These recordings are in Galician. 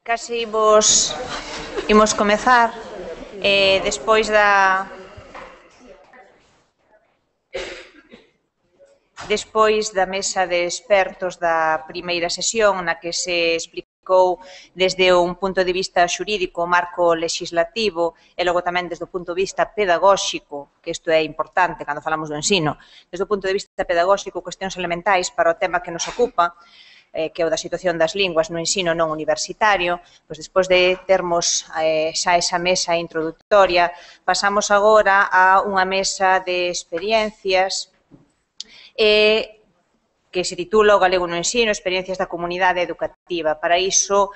Case imos comezar despois da mesa de expertos da primeira sesión na que se explicou desde un punto de vista xurídico o marco legislativo e logo tamén desde o punto de vista pedagóxico, que isto é importante cando falamos do ensino, desde o punto de vista pedagóxico, cuestións elementais para o tema que nos ocupa, que é o da situación das linguas no ensino non universitario. Pois despois de termos xa esa mesa introductoria, pasamos agora a unha mesa de experiencias que se titula O galego no ensino, experiencias da comunidade educativa. Para iso,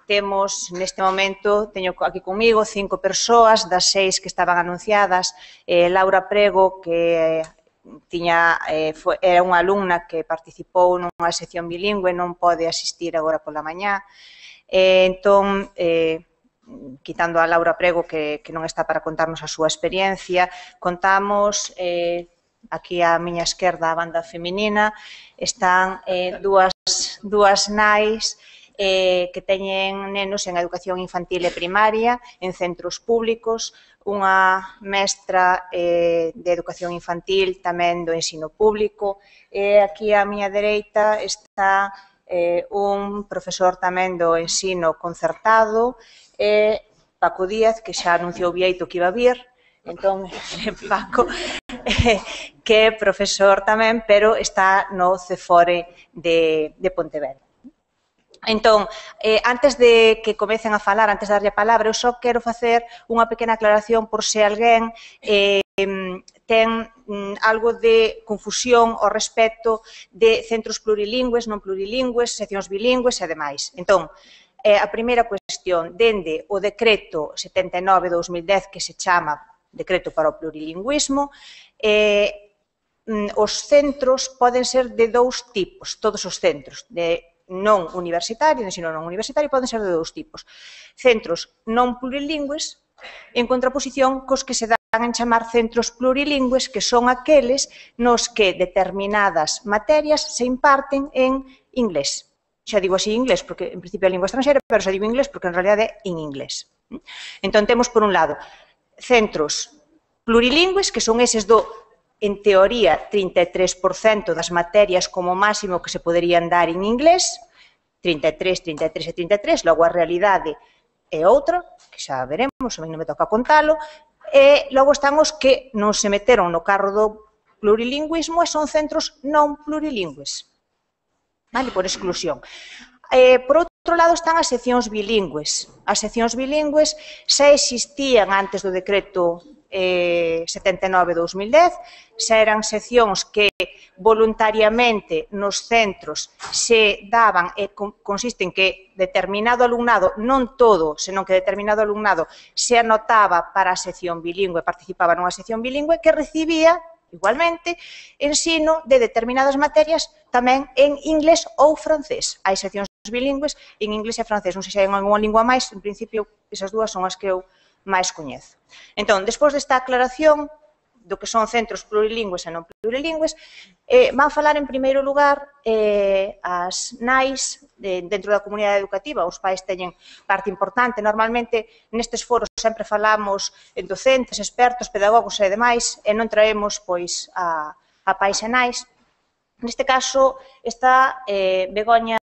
temos neste momento, teño aquí comigo 5 persoas, das 6 que estaban anunciadas, Laura Prego, que era unha alumna que participou nunha sección bilingüe, non pode asistir agora pola mañá. Entón, quitando a Laura Prego, que non está para contarnos a súa experiencia, contamos, aquí á miña esquerda, a banda feminina, están dúas nais que teñen nenos en educación infantil e primaria, en centros públicos, unha mestra de educación infantil tamén do ensino público, e aquí á miña dereita está un profesor tamén do ensino concertado, Paco Díaz, que xa anunciou Bieito que iba a vir, entón, Paco, que é profesor tamén, pero está no CEFORE de Pontevedra. Entón, antes de que comecen a falar, antes de darlle a palabra, eu só quero facer unha pequena aclaración por se alguén ten algo de confusión ao respecto de centros plurilingües, non plurilingües, seccións bilingües e demais. Entón, a primeira cuestión, dende o decreto 79/2010, que se chama Decreto para o Plurilingüismo, os centros poden ser de dous tipos, todos os centros, de non universitario, de ensino non universitario, poden ser de dous tipos. Centros non plurilingües, en contraposición cos que se dan en chamar centros plurilingües, que son aqueles nos que determinadas materias se imparten en inglés. Xa digo así inglés, porque en principio é lingua estranxera, pero xa digo inglés porque en realidade é en inglés. Entón, temos por un lado centros plurilingües, que son eses do, en teoría, 33% das materias como máximo que se poderían dar en inglés, 33, 33 e 33, logo a realidade é outra, que xa veremos, a mí non me toca contalo, e logo están os que non se meteron no carro do plurilingüismo e son centros non plurilingües, vale, por exclusión. Por outro lado están as seccións bilingües. As seccións bilingües xa existían antes do decreto 79/2010, xa eran seccións que voluntariamente nos centros se daban e consiste en que determinado alumnado, non todo, senón que determinado alumnado se anotaba para a sección bilingüe, participaba nunha sección bilingüe que recibía igualmente ensino de determinadas materias tamén en inglés ou francés. Hai seccións bilingües en inglés e francés, non sei se hai unha lingua máis, en principio esas dúas son as que eu máis coñezo. Entón, despois desta aclaración do que son centros plurilingües e non plurilingües, van falar en primeiro lugar as nais dentro da comunidade educativa. Os pais teñen parte importante. Normalmente nestes foros sempre falamos en docentes, expertos, pedagogos e demais, e non traemos pois a pais e nais. Neste caso está Begoña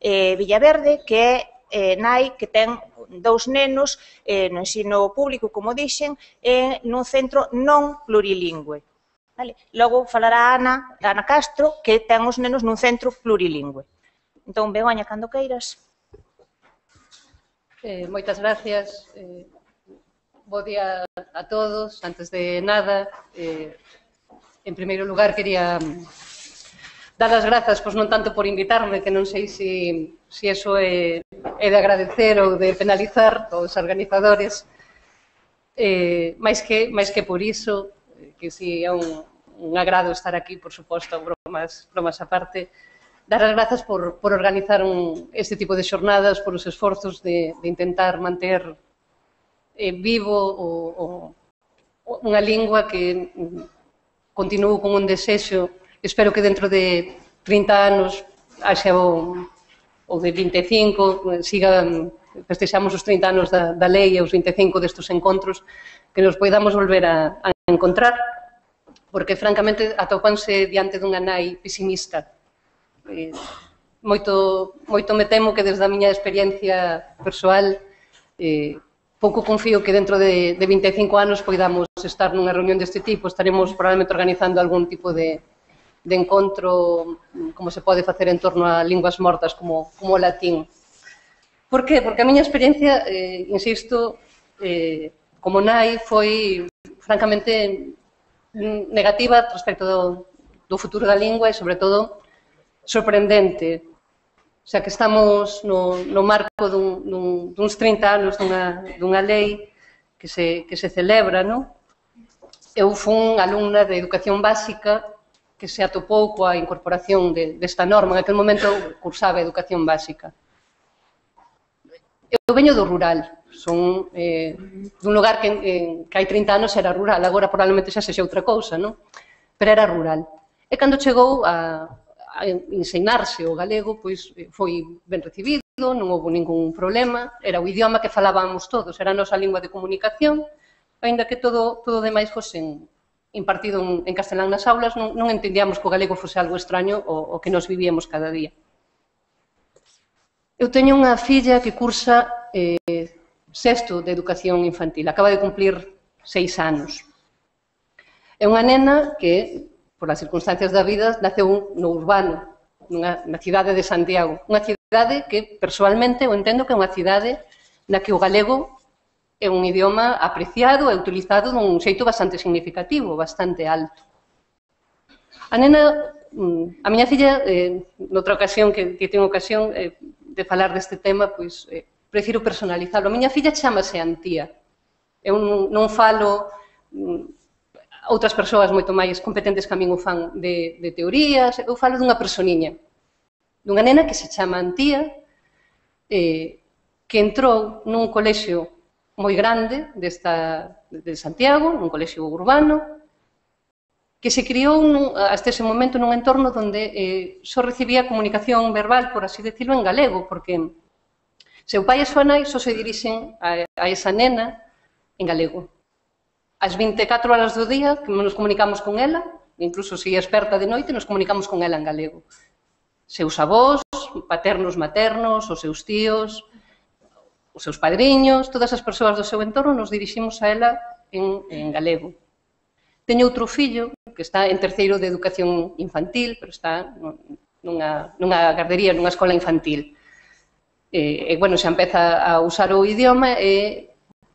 Villaverde, que é nai que ten 2 nenos no ensino público, como dixen, nun centro non plurilingüe. Logo falará Ana Castro, que ten os nenos nun centro plurilingüe. Entón, Begoña, cando queiras. Moitas gracias. Bo día a todos. Antes de nada, en primeiro lugar, quería dar as grazas, pois non tanto por invitarme, que non sei se iso é de agradecer ou de penalizar os organizadores, máis que por iso, que si é un agrado estar aquí, por suposto, bromas aparte, dar as grazas por organizar este tipo de xornadas, por os esforzos de intentar manter vivo unha lingua que continúo con un desexo. Espero que dentro de 30 anos haxa ou de 25, festexamos os 30 anos da lei e os 25 destes encontros, que nos poidamos volver a encontrar, porque, francamente, atópanse diante dunha nai pesimista. Moito me temo que, desde a miña experiencia persoal, pouco confío que dentro de 25 anos poidamos estar nunha reunión deste tipo. Estaremos probablemente organizando algún tipo de encontro, como se pode facer en torno a linguas mortas como o latín. Por que? Porque a miña experiencia, insisto, como nai, foi francamente negativa respecto do futuro da lingua e, sobre todo, sorprendente. O sea, que estamos no marco duns 30 anos dunha lei que se celebra, non? Eu fui alumna de educación básica que se atopou coa incorporación desta norma. En aquel momento cursaba educación básica. Eu veño do rural, son dun lugar que hai 30 anos era rural, agora probablemente xa sexa outra cousa, non? Pero era rural. E cando chegou a ensinarse o galego, pois foi ben recibido, non houve ningún problema, era o idioma que falábamos todos, era a nosa lingua de comunicación, aínda que todo o demais fose impartido en castelán nas aulas, non entendíamos que o galego fose algo extraño o que nos vivíamos cada día. Eu teño unha filla que cursa sexto de educación infantil, acaba de cumplir 6 anos. É unha nena que, por as circunstancias da vida, naceu no urbano, na cidade de Santiago. Unha cidade que, persoalmente, eu entendo que é unha cidade na que o galego é un idioma apreciado e utilizado dun xeito bastante significativo, bastante alto. A nena, a miña filla, noutra ocasión, que teño ocasión de falar deste tema, pois prefiro personalizarlo. A miña filla chamase Antía. Eu non falo, outras persoas moito máis competentes que a min o fan de teorías, eu falo dunha personiña, dunha nena que se chama Antía, que entrou nun colexio moi grande de Santiago, nun colexio urbano, que se criou hasta ese momento nun entorno onde só recibía comunicación verbal, por así decirlo, en galego, porque seu pai e súa nai só se dirixen a esa nena en galego. As 24 horas do día que nos comunicamos con ela, incluso se é experta de noite, nos comunicamos con ela en galego. Seus avós, paternos, maternos, os seus tíos, os seus padriños, todas as persoas do seu entorno nos diriximos a ela en galego. Teño outro fillo que está en terceiro de educación infantil, pero está nunha gardería, nunha escola infantil. E, bueno, xa empeza a usar o idioma e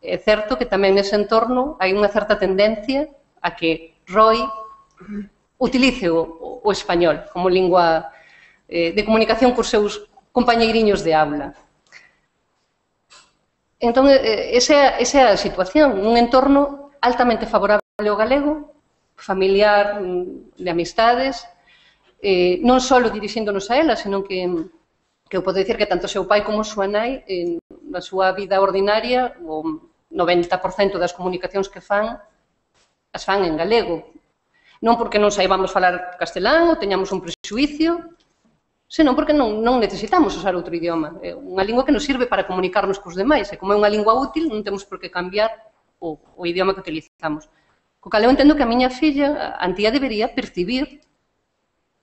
é certo que tamén nese entorno hai unha certa tendencia a que Roy utilice o español como lingua de comunicación cos seus compañeiriños de aula. Entón, esa é a situación, un entorno altamente favorable ao galego, familiar, de amistades, non só dirixíndonos a ela, senón que eu podo dicir que tanto o seu pai como a súa nai, na súa vida ordinaria, o 90% das comunicacións que fan, as fan en galego. Non porque non saibamos falar castelán ou teñamos un prexuicio, senón porque non necesitamos usar outro idioma. É unha lingua que nos sirve para comunicarnos cos demais, e como é unha lingua útil, non temos por que cambiar o idioma que utilizamos. Co cal eu entendo que a miña filla, Antía, debería percibir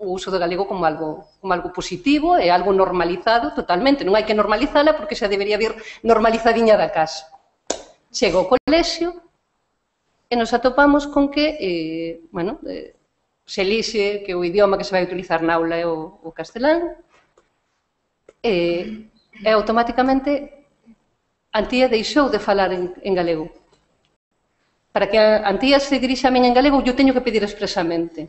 o uso do galego como algo positivo e algo normalizado totalmente. Non hai que normalizala porque xa debería vir normalizadiña da casa. Chega ao colexio e nos atopamos con que, bueno, se elixe que o idioma que se vai utilizar na aula é o castelán e automáticamente Antía deixou de falar en galego. Para que Antía se dirixa a min en galego, eu teño que pedir expresamente.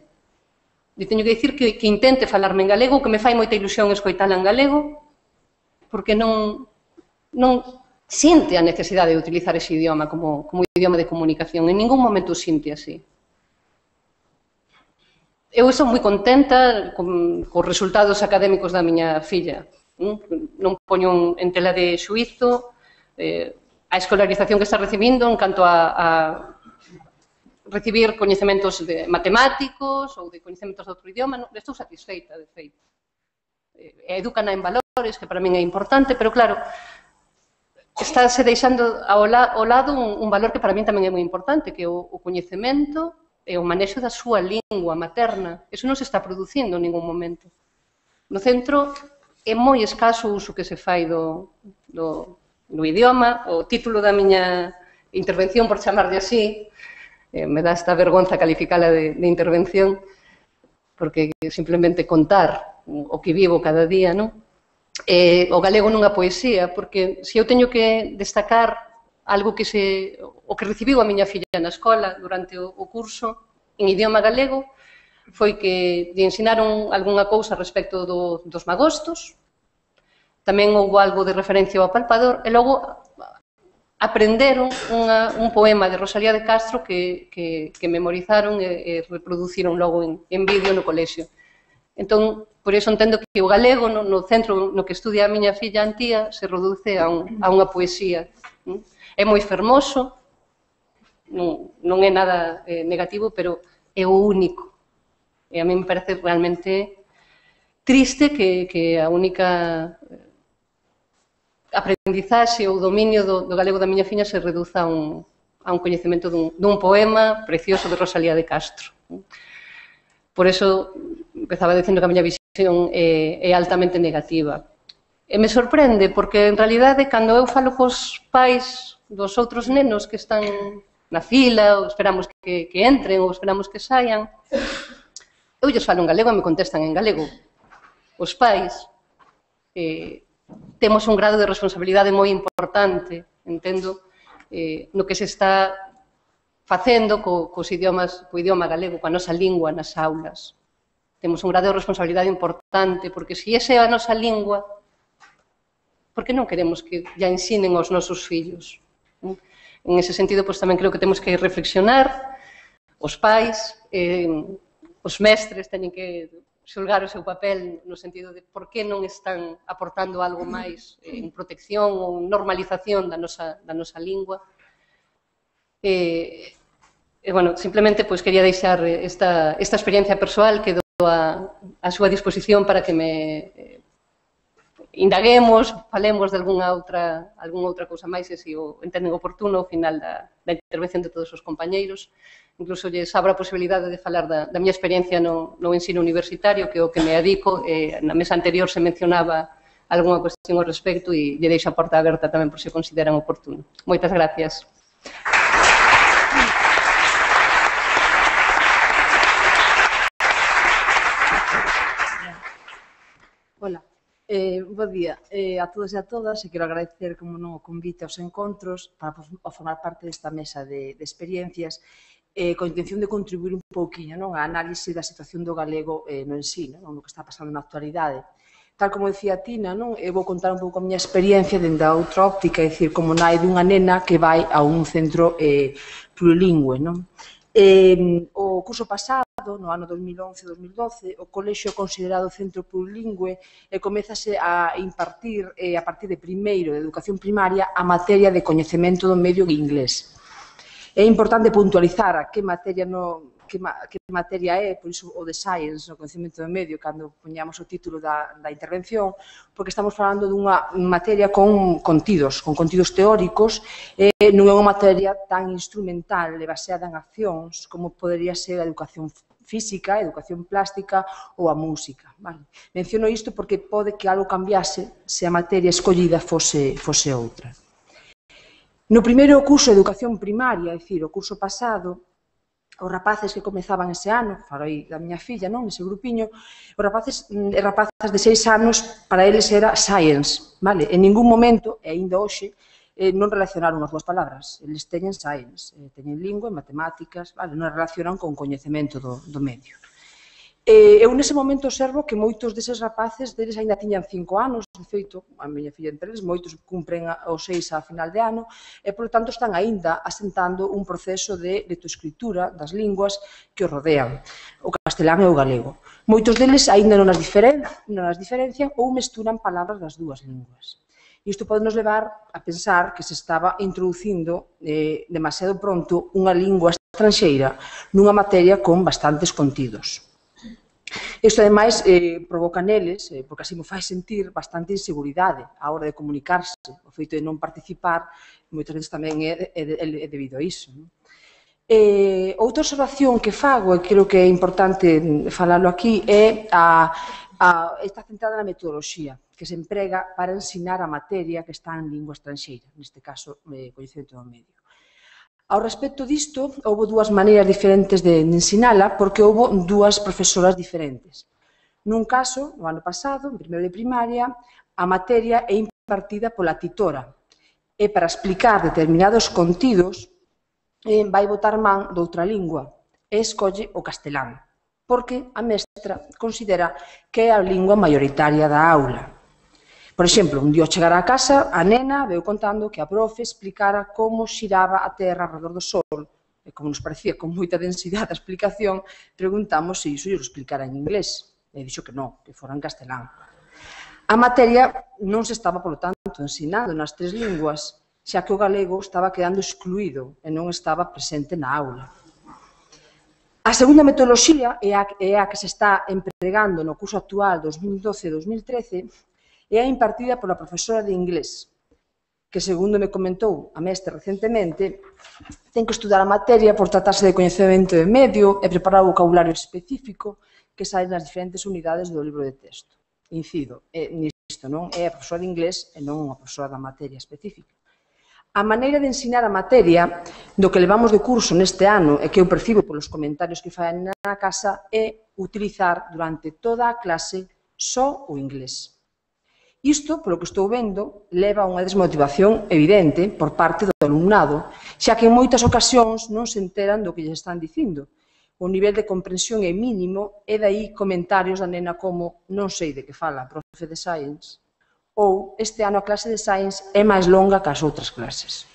Eu teño que dicir que intente falarme en galego, que me fai moita ilusión escoitala en galego, porque non sinte a necesidade de utilizar ese idioma como idioma de comunicación. En ningún momento o sinte así. Eu estou moi contenta cos resultados académicos da miña filla. Non poño en tela de xuízo a escolarización que está recibindo en canto a recibir coñecementos matemáticos ou de coñecementos de outro idioma. Estou satisfeita, de feito. educan en valores, que para min é importante, pero claro, estáse deixando ao lado un valor que para min tamén é moi importante, que é o coñecemento e o manexo da súa lingua materna. Eso non se está producindo en ningún momento. No centro é moi escaso o uso que se fai do idioma. O título da miña intervención, por chamarlle así, me dá esta vergonza calificala de intervención, porque simplemente contar o que vivo cada día, non? O galego nunha poesía, porque se eu teño que destacar algo que o que recibiu a miña filla na escola durante o curso en idioma galego foi que lle ensinaron algunha cousa respecto dos magostos, tamén houve algo de referencia ao apalpador, e logo aprenderon un poema de Rosalía de Castro que memorizaron e reproduciron logo en vídeo no colexio. Entón, por iso entendo que o galego no centro no que estudia a miña filla Antía se reduce a unha poesía. É moi fermoso, non é nada negativo, pero é o único. E a mí me parece realmente triste que a única aprendizaxe ou dominio do galego da miña filla se reduza a un coñecemento dun poema precioso de Rosalía de Castro. Por eso empezaba dicindo que a miña visión é altamente negativa. E me sorprende, porque en realidade, cando eu falo cos pais dos outros nenos que están na fila, ou esperamos que entren, ou esperamos que saian, eu lles falo en galego e me contestan en galego. Os pais temos un grado de responsabilidade moi importante, entendo, no que se está facendo co idioma galego, coa nosa lingua nas aulas. Temos un grado de responsabilidade importante, porque se esa é a nosa lingua, por que non queremos que ya ensinen aos nosos fillos? En ese sentido, tamén creo que temos que reflexionar, os pais, os mestres teñen que xulgar o seu papel no sentido de por que non están aportando algo máis en protección ou normalización da nosa lingua. Simplemente quería deixar esta experiencia persoal que dou a súa disposición para que me indaguemos, falemos de algunha outra cousa máis e se o entenden oportuno ao final da intervención de todos os compañeiros. Incluso lles abro a posibilidade de falar da miña experiencia no ensino universitario, que é o que me adico. Na mesa anterior se mencionaba algunha cuestión ao respecto e lle deixo a porta aberta tamén por se consideran oportuno. Moitas gracias. Hola, bo día a todos e a todas, e quero agradecer, como non, o convite aos encontros para formar parte desta mesa de experiencias con intención de contribuir un pouquiño á análise da situación do galego no ensino, no que está pasando na actualidade. Tal como decía Tina, eu vou contar un pouco a miña experiencia dende a outra óptica, é dicir, como nai dunha nena que vai a un centro plurilingüe. O curso pasado, no ano 2011-2012, o colexio é considerado centro plurilingüe e comezase a impartir, a partir de primeiro de educación primaria, a materia de coñecemento do medio inglés. É importante puntualizar a que materia é, por iso o de Science, o coñecemento do medio, cando poñamos o título da intervención, porque estamos falando dunha materia con contidos teóricos, e non é unha materia tan instrumental e baseada en accións como podería ser a educación física, a educación plástica ou a música. Menciono isto porque pode que algo cambiase se a materia escollida fose outra. No primeiro curso de educación primaria, é dicir, o curso pasado, os rapaces que comezaban ese ano, falo aí da miña filla, ese grupiño, os rapaces e rapazas de 6 anos, para eles era science, en ningún momento, e aínda hoxe, non relacionaron as dúas palabras. Eles teñen science, teñen lingua e matemáticas, non relacionan con coñecemento do medio. Eu nese momento observo que moitos deses rapaces deles aínda tiñan 5 anos, de feito, a miña filla entre eles, moitos cumpren os 6 a final de ano, e, polo tanto, están aínda asentando un proceso de lectoescritura das linguas que os rodean, o castelán e o galego. Moitos deles aínda non as diferencian ou mesturan palabras das dúas linguas. Isto pode nos levar a pensar que se estaba introducindo demasiado pronto unha lingua estranxeira nunha materia con bastantes contidos. Isto, ademais, provoca neles, porque así me fai sentir bastante inseguridade á hora de comunicarse. O feito de non participar, moitas veces tamén é debido a iso. Outra observación que fago, e creo que é importante falalo aquí, está centrada na metodoloxía que se emprega para ensinar a materia que está en lingua estranxeira, neste caso, coñecemento do medio. Ao respecto disto, houve dúas maneiras diferentes de ensinala, porque houve dúas profesoras diferentes. Nun caso, no ano pasado, en primeiro de primaria, a materia é impartida pola titora, e para explicar determinados contidos vai botar man doutra lingua, e escolle o castelán, porque a mestra considera que é a lingua mayoritaria da aula. Por exemplo, un día ao chegar á casa, a nena veu contando que a profe explicara como xiraba a Terra alrededor do Sol, e como nos parecía con moita densidade a explicación, preguntamos se iso lle explicara en inglés, e dixo que non, que fora en castelán. A materia non se estaba, polo tanto, ensinando nas tres linguas, xa que o galego estaba quedando excluído e non estaba presente na aula. A segunda metodoloxía é a que se está empregando no curso actual 2012-2013, é a impartida pola profesora de inglés, que, segundo me comentou a mestra recentemente, ten que estudar a materia por tratarse de coñecemento de medio e preparar o vocabulario específico que sai nas diferentes unidades do libro de texto. Incido, nisto non é a profesora de inglés e non a profesora da materia específica. A maneira de ensinar a materia do que levamos de curso neste ano e que eu percibo polos comentarios que fai na casa é utilizar durante toda a clase só o inglés. Isto, polo que estou vendo, leva a unha desmotivación evidente por parte do alumnado, xa que en moitas ocasións non se enteran do que lles están dicindo. O nivel de comprensión é mínimo e dai comentarios da nena como non sei de que fala a profe de Science ou este ano a clase de Science é máis longa que as outras clases.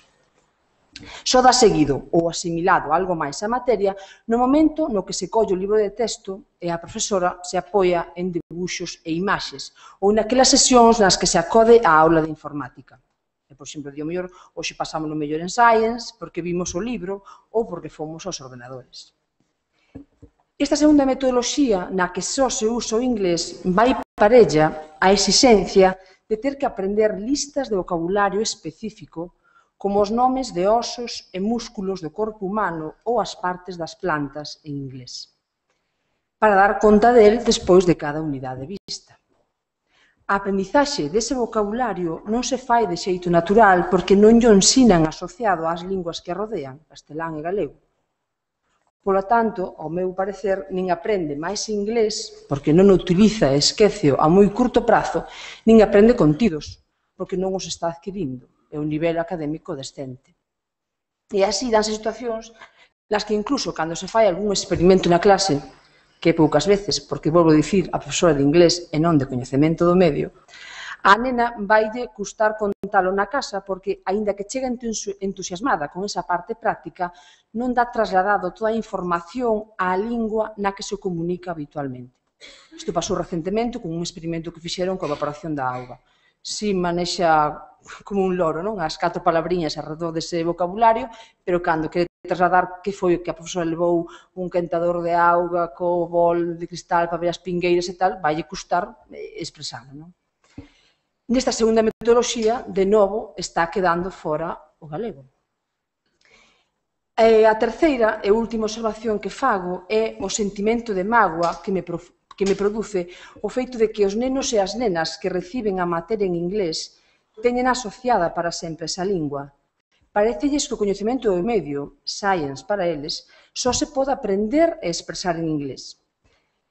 Só dá seguido ou asimilado algo máis a materia no momento no que se colle o libro de texto e a profesora se apoia en dibuxos e imaxes ou naquelas sesións nas que se acode á aula de informática. Por exemplo, o mellor, hoxe pasamos no mellor en Science porque vimos o libro ou porque fomos aos ordenadores. Esta segunda metodoloxía, na que só se usa o inglés, vai parella a exixencia de ter que aprender listas de vocabulario específico como os nomes de osos e músculos do corpo humano ou as partes das plantas en inglés, para dar conta del despois de cada unidade vista. A aprendizaxe dese vocabulario non se fai de xeito natural porque non lle ensinan asociado ás linguas que rodean, castelán e galego. Polo tanto, ao meu parecer, nin aprende máis inglés, porque non o utiliza e esqueceo a moi curto prazo, nin aprende contidos, porque non os está adquirindo. É un nivel académico descente. E así danse situacións nas que incluso cando se fai algún experimento na clase, que poucas veces, porque volvo a dicir a profesora de inglés e non de coñecemento do medio, a nena vaille custar contalo na casa porque, aínda que chega entusiasmada con esa parte práctica, non dá trasladado toda a información á lingua na que se comunica habitualmente. Isto pasou recentemente con un experimento que fixeron coa evaporación da auga. Si manexa como un loro, non? As 4 palabriñas alrededor dese vocabulario, pero cando quere trasladar que foi o que a profesora levou un quentador de auga co bol de cristal para ver as pingueiras e tal, vaille custar expresalo, non? Nesta segunda metodoloxía, de novo, está quedando fora o galego. A terceira e última observación que fago é o sentimento de mágoa que me produce o feito de que os nenos e as nenas que reciben a materia en inglés teñen asociada para sempre esa lingua. Parecelles que o coñecemento do medio, Science para eles, só se pode aprender e expresar en inglés.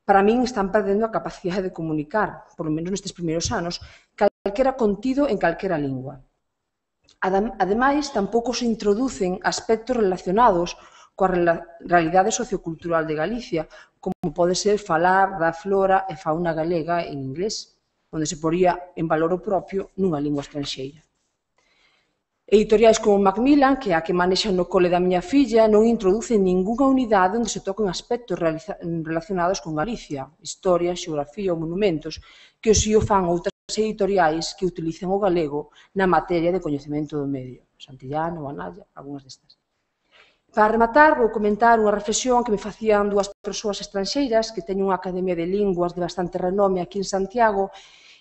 Para min están perdendo a capacidade de comunicar, por lo menos nestes primeiros anos, calquera contido en calquera lingua. Ademais, tampouco se introducen aspectos relacionados coa realidade sociocultural de Galicia, como pode ser falar da flora e fauna galega en inglés, onde se poría en valor o propio nunha lingua estranxeira. Editoriais como Macmillan, que é a que manexa no cole da miña filla, non introducen ningunha unidade onde se toquen aspectos relacionados con Galicia, historia, xeografía ou monumentos, que os o fan outras editoriais que utilizan o galego na materia de coñecemento do medio, Santillano, Analla, algunhas destas. Para rematar, vou comentar unha reflexión que me facían dúas persoas estranxeiras que teñen unha academia de linguas de bastante renome aquí en Santiago,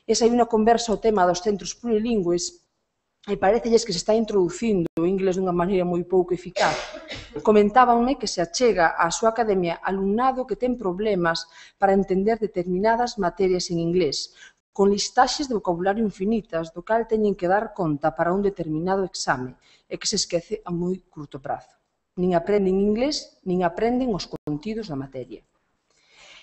e saí unha conversa ao tema dos centros plurilingües e parecelles que se está introducindo o inglés dunha maneira moi pouco eficaz. Comentábanme que se achega á súa academia alumnado que ten problemas para entender determinadas materias en inglés, con listaxes de vocabulario infinitas, do cal teñen que dar conta para un determinado exame e que se esquece a moi curto prazo. Nin aprenden inglés, nin aprenden os contidos da materia.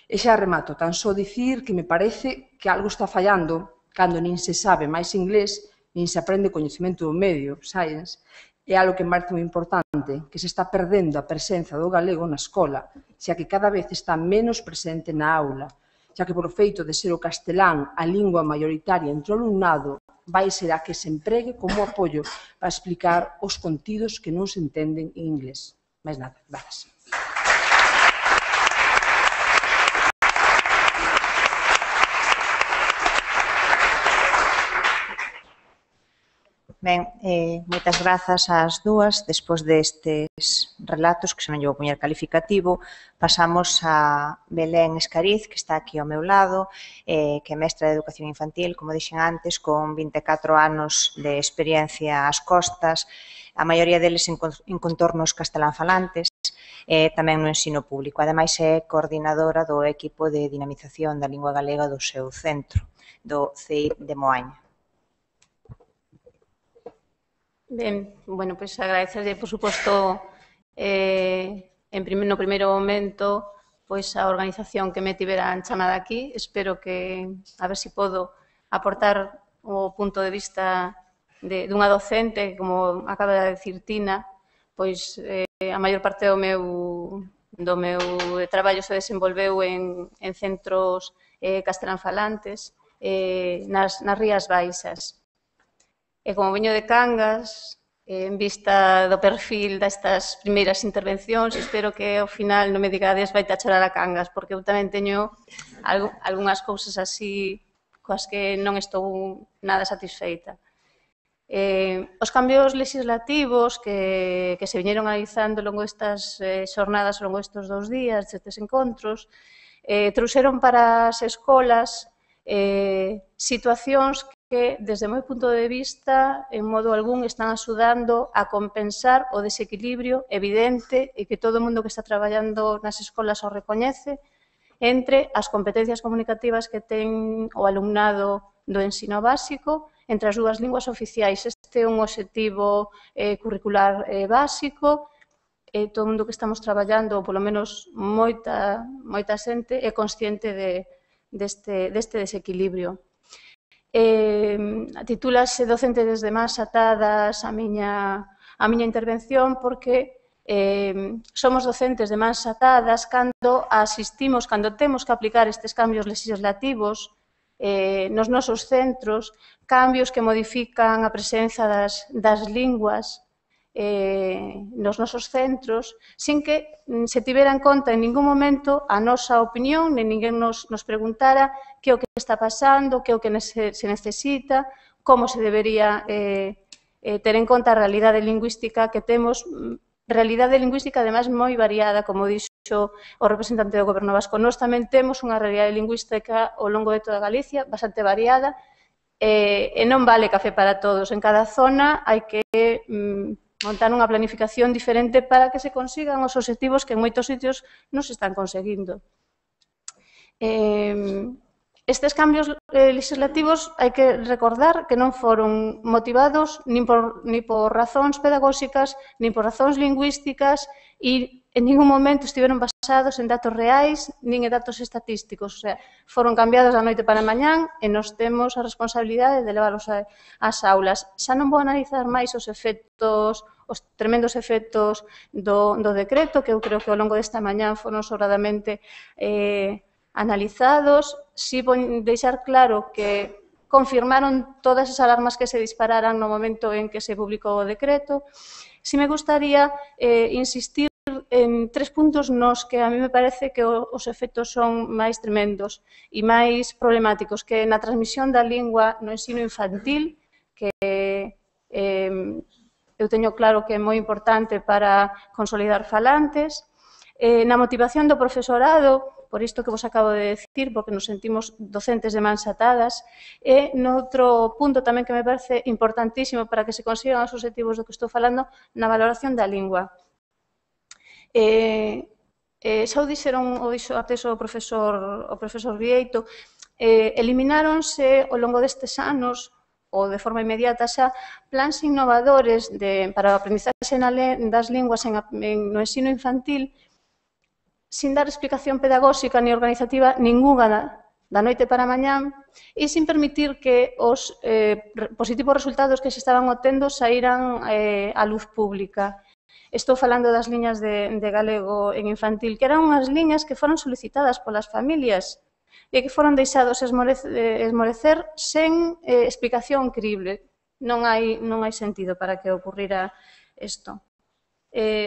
E xa remato, tan só dicir que me parece que algo está fallando cando nin se sabe máis inglés, nin se aprende coñecemento do medio, science, é algo que me parece moi importante, que se está perdendo a presenza do galego na escola, xa que cada vez está menos presente na aula, xa que polo feito de ser o castelán a lingua maioritaria entre o alumnado, vai ser a que se empregue como apoio para explicar os contidos que non se entenden en inglés. Mais nada, gracias. Ben, moitas grazas ás dúas. Despois destes relatos, que xa non lle vou poñer calificativo, pasamos a Belén Escariz, que está aquí ao meu lado, que é mestra de Educación Infantil, como dixen antes, con 24 anos de experiencia ás costas, a maioría deles en contornos castelánfalantes, tamén no ensino público. Ademais, é coordinadora do equipo de dinamización da lingua galega do seu centro, do CEI de Moaña. Ben, bueno, pois agradecerlle, por suposto, no primeiro momento, pois a organización que me tiveran chamada aquí. Espero que, a ver se podo aportar o punto de vista dunha docente, como acaba de decir Tina, pois a maior parte do meu traballo se desenvolveu en centros castelánfalantes nas Rías Baixas. E como veño de Cangas, en vista do perfil destas primeiras intervencións, espero que ao final non me digades vai a chorar a Cangas, porque eu tamén teño algunhas cousas así coas que non estou nada satisfeita. Os cambios legislativos que se viñeron analizando ao longo destas xornadas, ao longo destes 2 días, destes encontros, trouxeron para as escolas situacións que, desde o meu punto de vista, en modo algún están axudando a compensar o desequilibrio evidente e que todo o mundo que está traballando nas escolas o recoñece entre as competencias comunicativas que ten o alumnado do ensino básico entre as dúas linguas oficiais. Este é un obxectivo curricular básico e todo o mundo que estamos traballando, ou polo menos moita xente, é consciente deste desequilibrio. Titúlase Docente desde Mans Atadas a miña intervención porque somos docentes de mans atadas cando asistimos, cando temos que aplicar estes cambios legislativos nos nosos centros, cambios que modifican a presenza das linguas nos nosos centros, sin que se tivera en conta en ningún momento a nosa opinión, nin ninguén nos preguntara que é o que está pasando, que é o que se necesita, como se debería ter en conta a realidade lingüística que temos, realidade lingüística ademais moi variada, como dixo o representante do Goberno Vasco. Nós tamén temos unha realidade lingüística ao longo de toda Galicia, bastante variada, e non vale café para todos. En cada zona hai que montar unha planificación diferente para que se consigan os obxectivos que en moitos sitios non se están conseguindo. Estes cambios legislativos hai que recordar que non foron motivados nin por razóns pedagóxicas, nin por razóns lingüísticas e en ningún momento estiveron basados en datos reais nin en datos estatísticos. O sea, foron cambiados da noite para a mañán e nos temos a responsabilidade de leválos ás aulas. Xa non vou analizar máis os tremendos efectos do decreto, que eu creo que ao longo desta mañán foron sobradamente analizados. Si vou deixar claro que confirmaron todas as alarmas que se dispararan no momento en que se publicou o decreto. Si me gustaría insistir en 3 puntos nos que a mí me parece que os efectos son máis tremendos e máis problemáticos, que na transmisión da lingua no ensino infantil, que eu teño claro que é moi importante para consolidar falantes. Na motivación do profesorado, por isto que vos acabo de decir, porque nos sentimos docentes de mans atadas, e noutro punto tamén que me parece importantísimo para que se consigan os objetivos do que estou falando, na valoración da lingua. Xa o dixeron o profesor Vieito, elimináronse ao longo destes anos ou de forma inmediata xa plans innovadores para a aprendizaxe das linguas no ensino infantil sin dar explicación pedagóxica ni organizativa ninguna da noite para a mañán e sin permitir que os positivos resultados que se estaban obtendo saíran á luz pública. Estou falando das liñas de galego en infantil, que eran unhas liñas que foron solicitadas polas familias e que foron deixados esmorecer sen explicación crible. Non hai sentido para que ocurrira isto.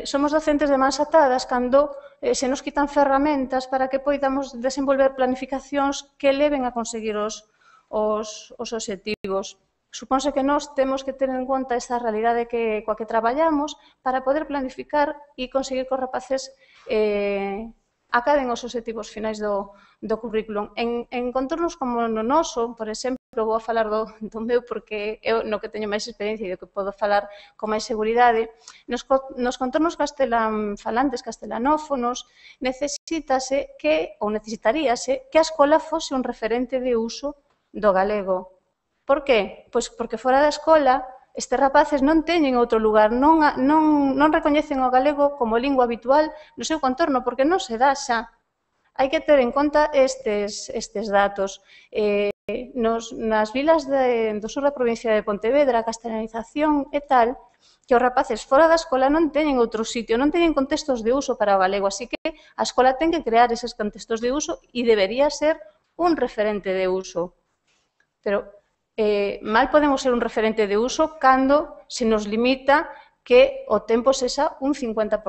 Somos docentes de mans atadas cando se nos quitan ferramentas para que poidamos desenvolver planificacións que leven a conseguir os obxectivos. Supónse que nós temos que ter en conta esta realidade coa que traballamos para poder planificar e conseguir que os rapaces acaden os obxectivos finais do currículum. En contornos como no noso, por exemplo, vou a falar do meu porque é no que teño máis experiencia e do que podo falar con máis seguridade, nos contornos falantes castelanófonos necesitaríase que a escola fose un referente de uso do galego. Por que? Pois porque fora da escola estes rapaces non teñen outro lugar, non recoñecen o galego como lingua habitual no seu contorno, porque non se dá xa. Hai que ter en conta estes datos. Nas vilas do sur da provincia de Pontevedra, a castelanización é tal que os rapaces fora da escola non teñen outro sitio, non teñen contextos de uso para o galego, así que a escola ten que crear eses contextos de uso e debería ser un referente de uso. Pero mal podemos ser un referente de uso cando se nos limita que o tempo sexa un 50%,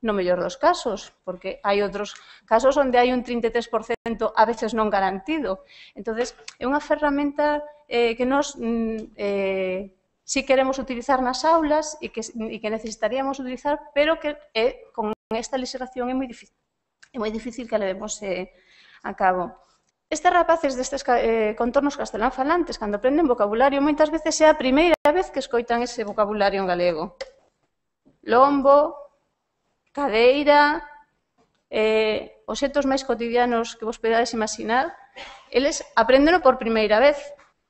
no mellor dos casos, porque hai outros casos onde hai un 33% a veces non garantido. Entón, é unha ferramenta que nos si queremos utilizar nas aulas e que necesitaríamos utilizar, pero que con esta legislación é moi difícil que a levemos a cabo. Estes rapaces destes contornos castelán falantes, cando aprenden vocabulario, moitas veces é a primeira vez que escoitan ese vocabulario en galego. Lombo, cadeira, os xetos máis cotidianos que vos podades imaginar, eles aprendeno por primeira vez.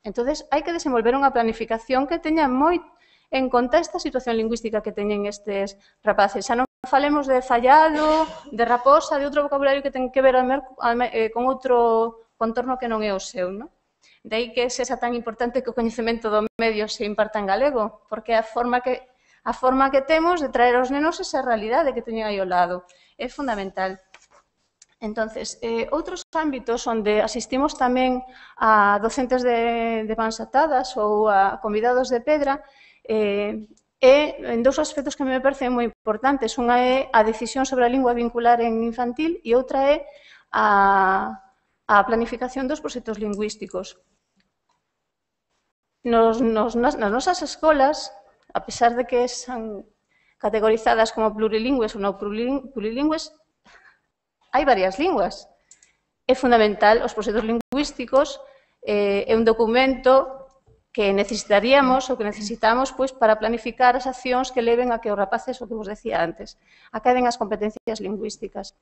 Entón, hai que desenvolver unha planificación que teña moi en conta esta situación lingüística que teñen estes rapaces. Xa non falemos de fallado, de raposa, de outro vocabulario que ten que ver con outro contorno que non é o seu, non? De aí que sexa tan importante que o coñecemento do medio se imparta en galego, porque a forma que temos de traer aos nenos esa realidade que teñen aí ao lado é fundamental. Entón, outros ámbitos onde asistimos tamén a docentes de mans atadas ou a convidados de pedra en dous aspectos que me parecen moi importantes. Unha é a decisión sobre a lingua vincular en infantil e outra é a planificación dos proxectos lingüísticos. Nas nosas escolas, a pesar de que son categorizadas como plurilingües ou non plurilingües, hai varias linguas. É fundamental, os proxectos lingüísticos é un documento que necesitaríamos ou que necesitamos para planificar as accións que leven a que os rapaces, o que vos decía antes, acaden as competencias lingüísticas.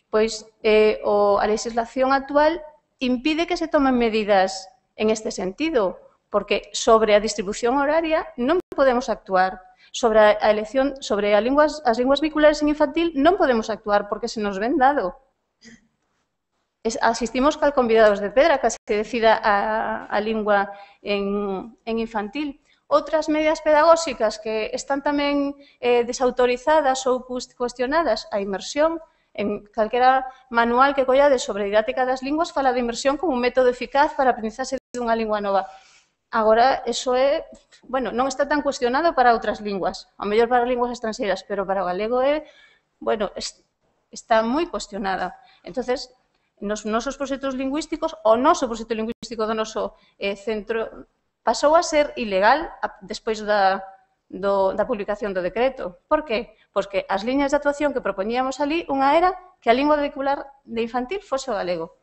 Pois a legislación actual impide que se tomen medidas en este sentido, porque sobre a distribución horaria non podemos actuar. Sobre a elección, sobre as linguas vehiculares en infantil non podemos actuar porque se nos ven dado. Asistimos cal convidados de pedra que se decida a lingua en infantil. Outras medidas pedagóxicas que están tamén desautorizadas ou cuestionadas, a inmersión. En calquera manual que collades sobre didáctica das linguas fala de inmersión como un método eficaz para a aprendizaxe dunha lingua nova. Agora, eso non está tan cuestionado para outras linguas, ao mellor para linguas estranxeiras, pero para o galego está moi cuestionada. Entón, nos nosos proxectos lingüísticos, o noso proxecto lingüístico do noso centro pasou a ser ilegal despois da publicación do decreto. Por que? Pois que as liñas de actuación que propoñíamos ali, unha era que a lingua vehicular de infantil fose o galego.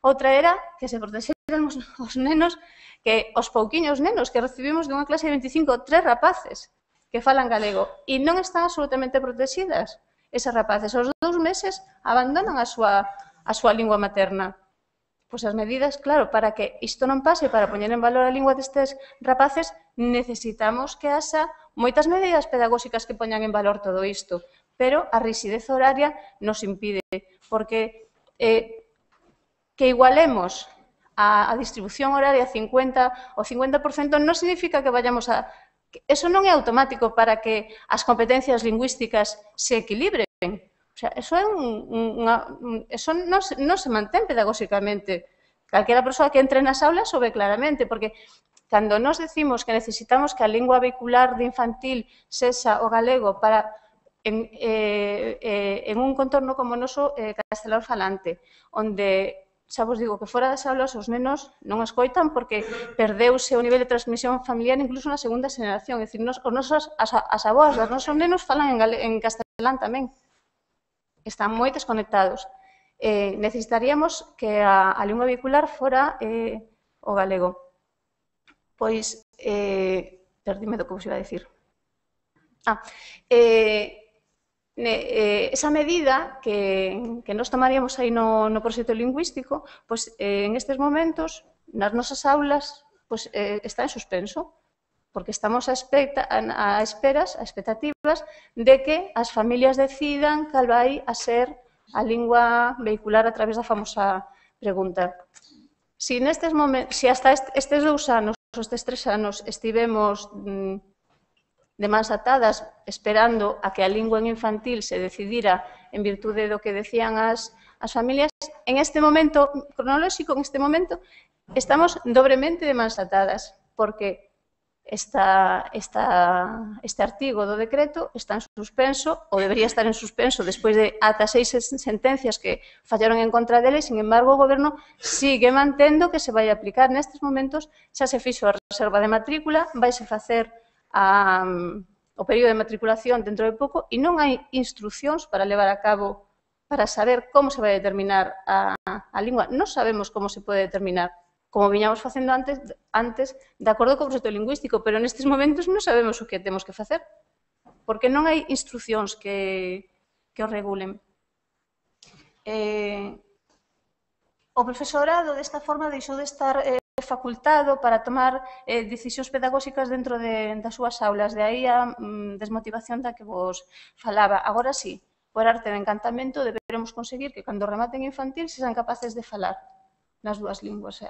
Outra era que se protexeran os nenos, que os pouquiños nenos que recibimos dunha clase de 25, 3 rapaces que falan galego e non están absolutamente protegidas. Esas rapaces, aos 2 meses, abandonan a súa lingua materna. Pois as medidas, claro, para que isto non pase, para poñer en valor a lingua destes rapaces, necesitamos que haxa moitas medidas pedagóxicas que poñan en valor todo isto, pero a rigidez horaria nos impide, porque que igualemos a distribución horaria 50 ou 50% non significa que vayamos a... Eso non é automático para que as competencias lingüísticas se equilibren. O sea, eso non se mantén pedagóxicamente. Calquera persoa que entre nas aulas o ve claramente, porque cando nos decimos que necesitamos que a lingua vehicular de infantil sexa o galego para en un contorno como o noso castelán falante, onde xa vos digo que fora das aulas os nenos non escoitan porque perdeuse o nivel de transmisión familiar incluso na segunda xeración. É dicir, as aboas dos nosos nenos falan en castelán tamén. Están moi desconectados. Necesitaríamos que a lingua vehicular fora o galego. Pois, perdime do que vos iba a dicir. Esa medida que nos tomaríamos aí no proxecto lingüístico, pois en estes momentos, nas nosas aulas, pois está en suspenso, porque estamos a expectativas de que as familias decidan cal vai a ser a lingua vehicular a través da famosa pregunta. Si hasta estes 2 anos, estes 3 anos, estivemos de mans atadas esperando a que a lingua en infantil se decidira en virtude do que decían as familias, en este momento cronolóxico, en este momento, estamos dobremente de mans atadas, porque este artigo do decreto está en suspenso, ou debería estar en suspenso despois de ata 6 sentencias que fallaron en contra dele, sin embargo, o Goberno sigue mantendo que se vai aplicar. Nestes momentos xa se fixo a reserva de matrícula, vaise facer o período de matriculación dentro de pouco e non hai instruccións para levar a cabo, para saber como se vai determinar a lingua. Non sabemos como se pode determinar, como viñamos facendo antes de acordo co proxecto lingüístico, pero nestes momentos non sabemos o que temos que facer, porque non hai instruccións que o regulen. O profesorado, desta forma, deixou de estar facultado para tomar decisións pedagóxicas dentro das súas aulas. De aí a desmotivación da que vos falaba. Agora sí, por arte de encantamento, deberemos conseguir que cando rematen infantil sexan capaces de falar nas 2 linguas.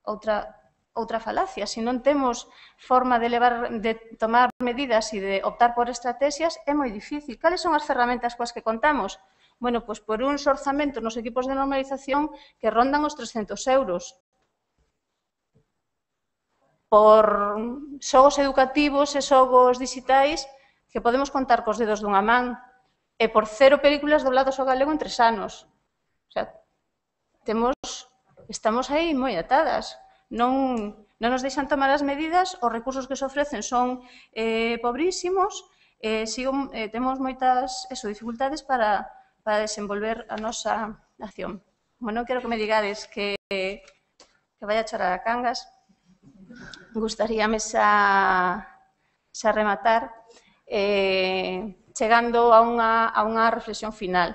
Outra falacia. Se non temos forma de tomar medidas e de optar por estrategias, é moi difícil. Cales son as ferramentas coas que contamos? Bueno, pois por uns orzamentos nos equipos de normalización que rondan os 300 euros. Por xogos educativos e xogos digitais que podemos contar cos dedos dunha man e por 0 películas dobladas ao galego en 3 anos. O sea, estamos aí moi atadas. Non nos deixan tomar as medidas, os recursos que se ofrecen son pobrísimos, temos moitas dificultades para desenvolver a nosa acción. Non quero que me digades que vai a chorar a Cangas. Gustaríame xa rematar chegando a unha reflexión final.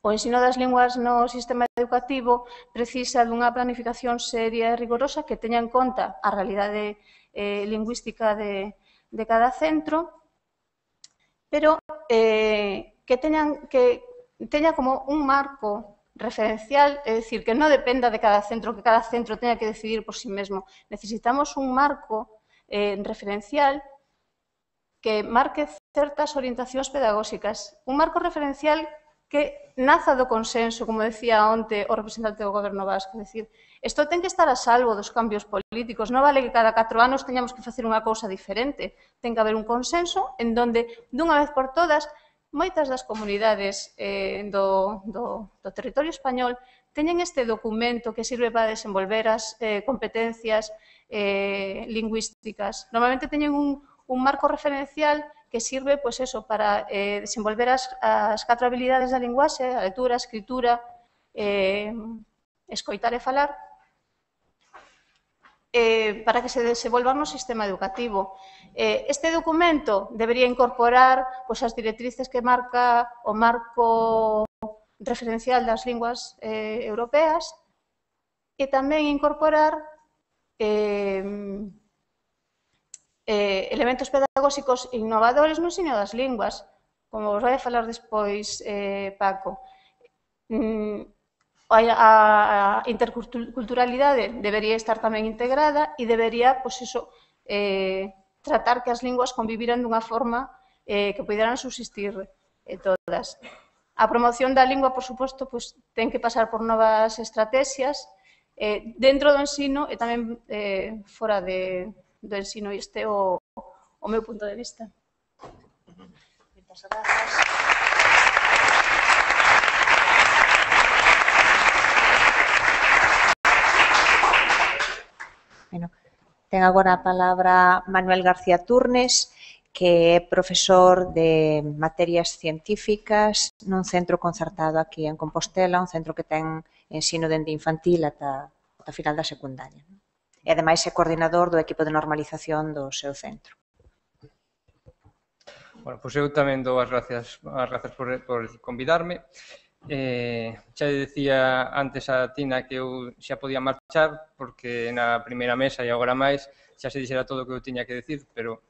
O ensino das linguas no sistema educativo precisa dunha planificación seria e rigorosa que teña en conta a realidade lingüística de cada centro, pero que teña como un marco referencial, é dicir, que non dependa de cada centro, que cada centro teña que decidir por sí mesmo. Necesitamos un marco referencial que marque certas orientacións pedagóxicas, un marco referencial que naza do consenso, como decía onte o representante do Goberno vasco. É dicir, isto ten que estar a salvo dos cambios políticos. Non vale que cada 4 anos teñamos que facer unha cousa diferente. Ten que haber un consenso en donde, dunha vez por todas, moitas das comunidades do territorio español teñen este documento que sirve para desenvolver as competencias lingüísticas. Normalmente teñen un marco referencial que sirve pois eso, para desenvolver as 4 habilidades da linguaxe, a lectura, a escritura, escoitar e falar, para que se desenvolva no sistema educativo. Este documento debería incorporar pois, as directrices que marca o marco referencial das linguas europeas e tamén incorporar elementos pedagóxicos innovadores no ensino das linguas, como vos vai a falar despois Paco. A interculturalidade debería estar tamén integrada e debería, pois iso, tratar que as linguas conviviran dunha forma que poderan subsistir todas. A promoción da lingua, por suposto, pois, ten que pasar por novas estrategias dentro do ensino e tamén fora do ensino. Este é o meu punto de vista. Moitas grazas. Bueno, ten agora a palabra Manuel García Turnes, que é profesor de materias científicas nun centro concertado aquí en Compostela, un centro que ten ensino dende infantil ata final da secundaria. E, ademais, é coordinador do equipo de normalización do seu centro. Bueno, pois eu tamén dou as grazas por convidarme. Xa decía antes a Tina que eu xa podía marchar porque na primeira mesa e agora máis xa se dixera todo o que eu tiña que decir, pero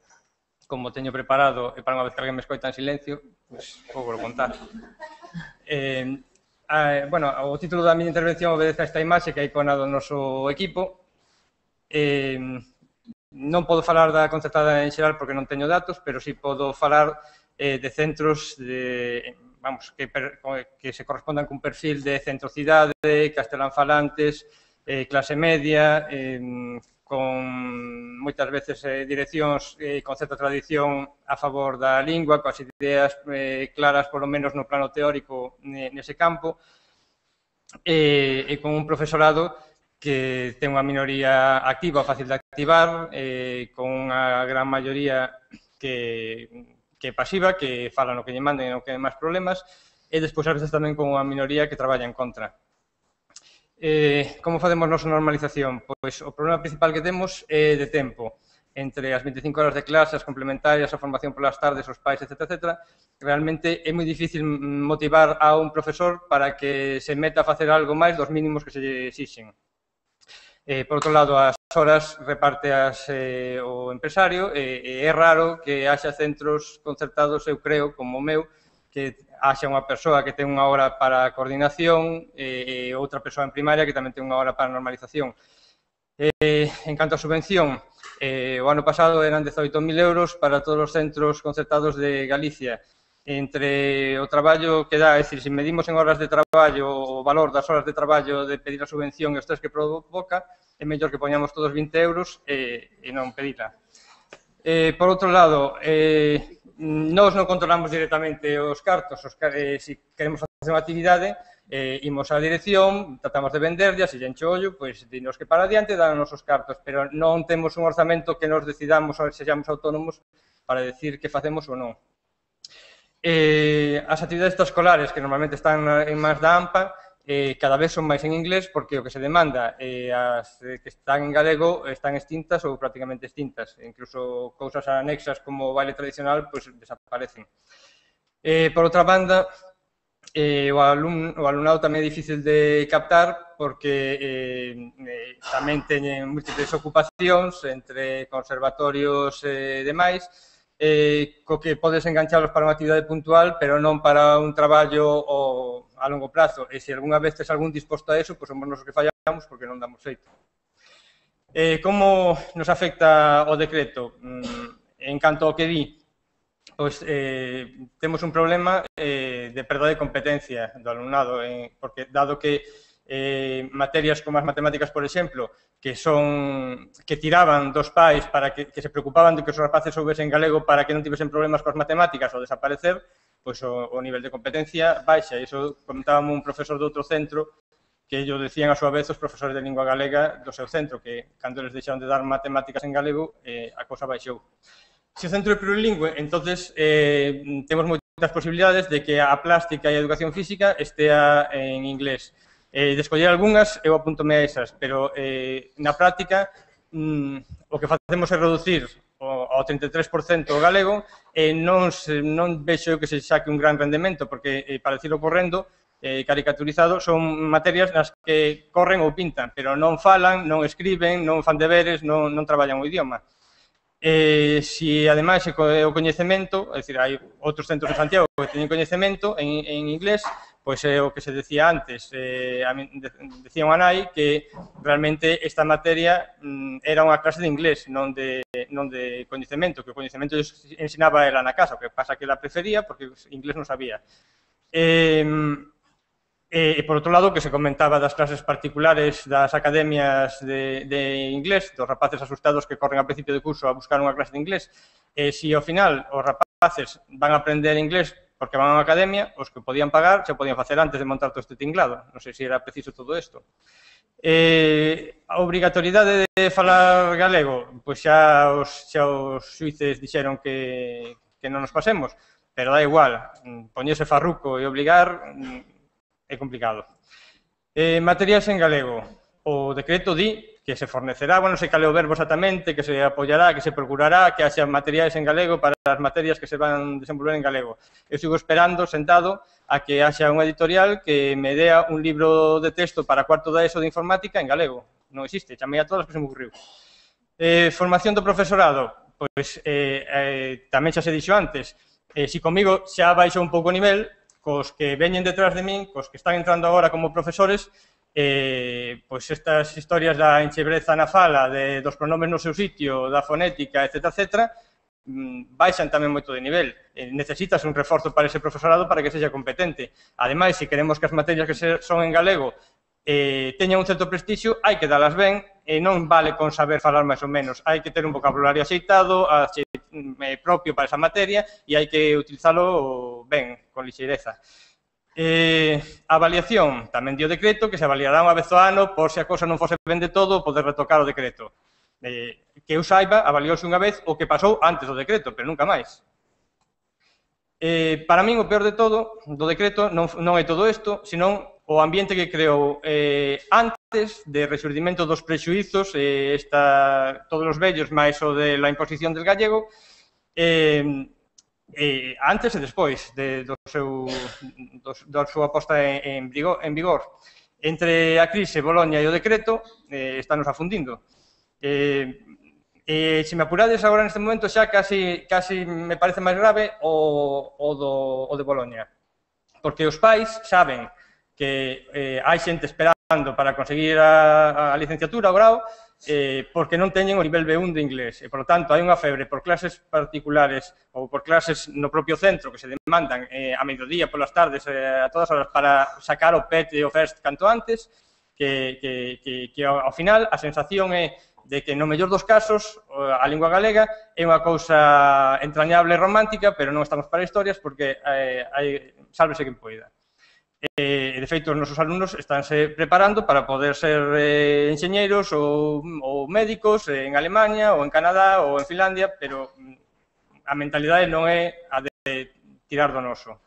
como teño preparado e para unha vez que alguén me escoita en silencio, pois vou contar. Bueno, o título da miña intervención obedece a esta imaxe que é a icona do noso equipo. Non podo falar da concertada en xeral porque non teño datos, pero sí podo falar de centros que se correspondan cun perfil de centro-cidade, castelán-falantes, clase media, con moitas veces direccións con certa tradición a favor da lingua, coas ideas claras, polo menos no plano teórico, nese campo, e con un profesorado que ten unha minoría activa, fácil de activar, con unha gran maioría que é pasiva, que fala no que lle manden e non que hai máis problemas, e despois a veces tamén con unha minoría que traballa en contra. Como facemos nosa normalización? Pois o problema principal que temos é de tempo. Entre as 25 horas de clase, as complementarias, a formación polas tardes, os pais, etc. Realmente é moi difícil motivar a un profesor para que se meta a facer algo máis dos mínimos que se lle exixen. Por outro lado, as horas repárteas o empresario e é raro que haxa centros concertados, eu creo, como o meu, que haxa unha persoa que ten unha hora para a coordinación e outra persoa en primaria que tamén ten unha hora para a normalización. En canto á subvención, o ano pasado eran 18.000 euros para todos os centros concertados de Galicia. Entre o traballo que dá, é dicir, se medimos en horas de traballo o valor das horas de traballo de pedir a subvención e os estrés que provoca, é mellor que poñamos todos 20 euros e non pedila. Por outro lado, nós non controlamos directamente os cartos. Se queremos facer unha actividade, imos á dirección, tratamos de venderlla, se lle enche o ollo, pois dinos que para adiante dan os nosos cartos, pero non temos un orzamento que nos decidamos ou sexamos autónomos para decir que facemos ou non. As actividades extraescolares, que normalmente están en mans da AMPA, cada vez son máis en inglés porque o que se demanda as que están en galego están extintas ou prácticamente extintas. Incluso cousas anexas como o baile tradicional pois desaparecen. Por outra banda, o alumnado tamén é difícil de captar porque tamén teñen múltiples ocupacións entre conservatorios e demais, co que podes enganchalos para unha actividade puntual, pero non para un traballo a longo prazo. E se algunha vez tes algún disposto a eso, pois somos nos que fallamos porque non damos feito. Como nos afecta o decreto? En canto ao que di, pois temos un problema de perda de competencia do alumnado, porque dado que materias como as matemáticas, por exemplo, que tiraban dos pais para que se preocupaban de que os rapaces soubesen galego para que non tivesen problemas coas matemáticas ao desaparecer, pois o nivel de competencia baixa. Iso comentábamos un profesor de outro centro que yo decían a súa vez os profesores de lingua galega do seu centro, que cando eles deixaron de dar matemáticas en galego, a cousa baixou. Se o centro é plurilingüe, entonces temos moitas posibilidades de que a plástica e a educación física estea en inglés. De escoller algunhas, eu apuntome a esas, pero na práctica o que facemos é reducir ao 33% o galego e non vexo que se saque un gran rendemento, porque, para decirlo correndo, caricaturizado, son materias nas que corren ou pintan, pero non falan, non escriben, non fan deberes, non traballan o idioma. Se, ademais, o coñecemento, é dicir, hai outros centros de Santiago que teñen coñecemento en inglés, pois é o que se decía antes. Decía unha nai que realmente esta materia era unha clase de inglés, non de coñecemento, que o coñecemento ensinaba ela na casa, o que pasa que ela prefería porque inglés non sabía. E, por outro lado, que se comentaba das clases particulares das academias de inglés, dos rapaces asustados que corren a principio de curso a buscar unha clase de inglés, e se ao final os rapaces van a aprender inglés porque van a unha academia, os que podían pagar xa podían facer antes de montar todo este tinglado. Non sei se era preciso todo isto. A obrigatoriedade de falar galego, pois xa os xuíces dixeron que non nos pasemos, pero dá igual, poñerse farruco e obligar é complicado. Materiais en galego. O decreto di que se fornecerá, non sei cal é o verbo exactamente, que se apoiará, que se procurará que haxa materiais en galego para as materias que se van desenvolver en galego. Eu sigo esperando, sentado, a que haxa unha editorial que me dea un libro de texto para cuarto da ESO de informática en galego. Non existe, chamei a todas que se me ocurriu. Formación do profesorado. Pois tamén xa se dixo antes, se comigo xa baixou un pouco o nivel, cos que veñen detrás de min, cos que están entrando agora como profesores, pois estas historias da enchebreza na fala, dos pronomes no seu sitio, da fonética, etc., baixan tamén moito de nivel. Necesitas un reforzo para ese profesorado para que sexa competente. Ademais, se queremos que as materias que son en galego teñan un certo prestixio, hai que dalas ben, e non vale con saber falar máis ou menos. Hai que ter un vocabulario axeitado, propio para esa materia, e hai que utilizalo ben, con lixeireza. A avaliación, tamén dio decreto, que se avaliará unha vez ao ano, por se a cosa non fose ben de todo, poder retocar o decreto. Que eu saiba, avaliouse unha vez o que pasou antes do decreto, pero nunca máis. Para min, o peor de todo, do decreto, non é todo isto, senón o ambiente que creou antes de resurdimento dos prexuizos, todos os vellos, máis o de la imposición del gallego, antes e despois da súa posta en vigor. Entre a crise, Boloña e o decreto, estános afundindo. Se me apurades agora neste momento, xa casi me parece máis grave o de Boloña. Porque os pais saben que hai xente esperando para conseguir a licenciatura, o grau, porque non teñen o nivel B1 de inglés. E, por lo tanto, hai unha febre por clases particulares ou por clases no propio centro que se demandan a mediodía, polas tardes, a todas horas, para sacar o PET e o FIRST canto antes, que ao final a sensación é de que no mellor dos casos a lingua galega é unha cousa entrañable e romántica, pero non estamos para historias porque sálvese quen poida. De feito, os nosos alumnos estánse preparando para poder ser enxeñeiros ou médicos en Alemania ou en Canadá ou en Finlandia, pero a mentalidade non é a de tirar do noso.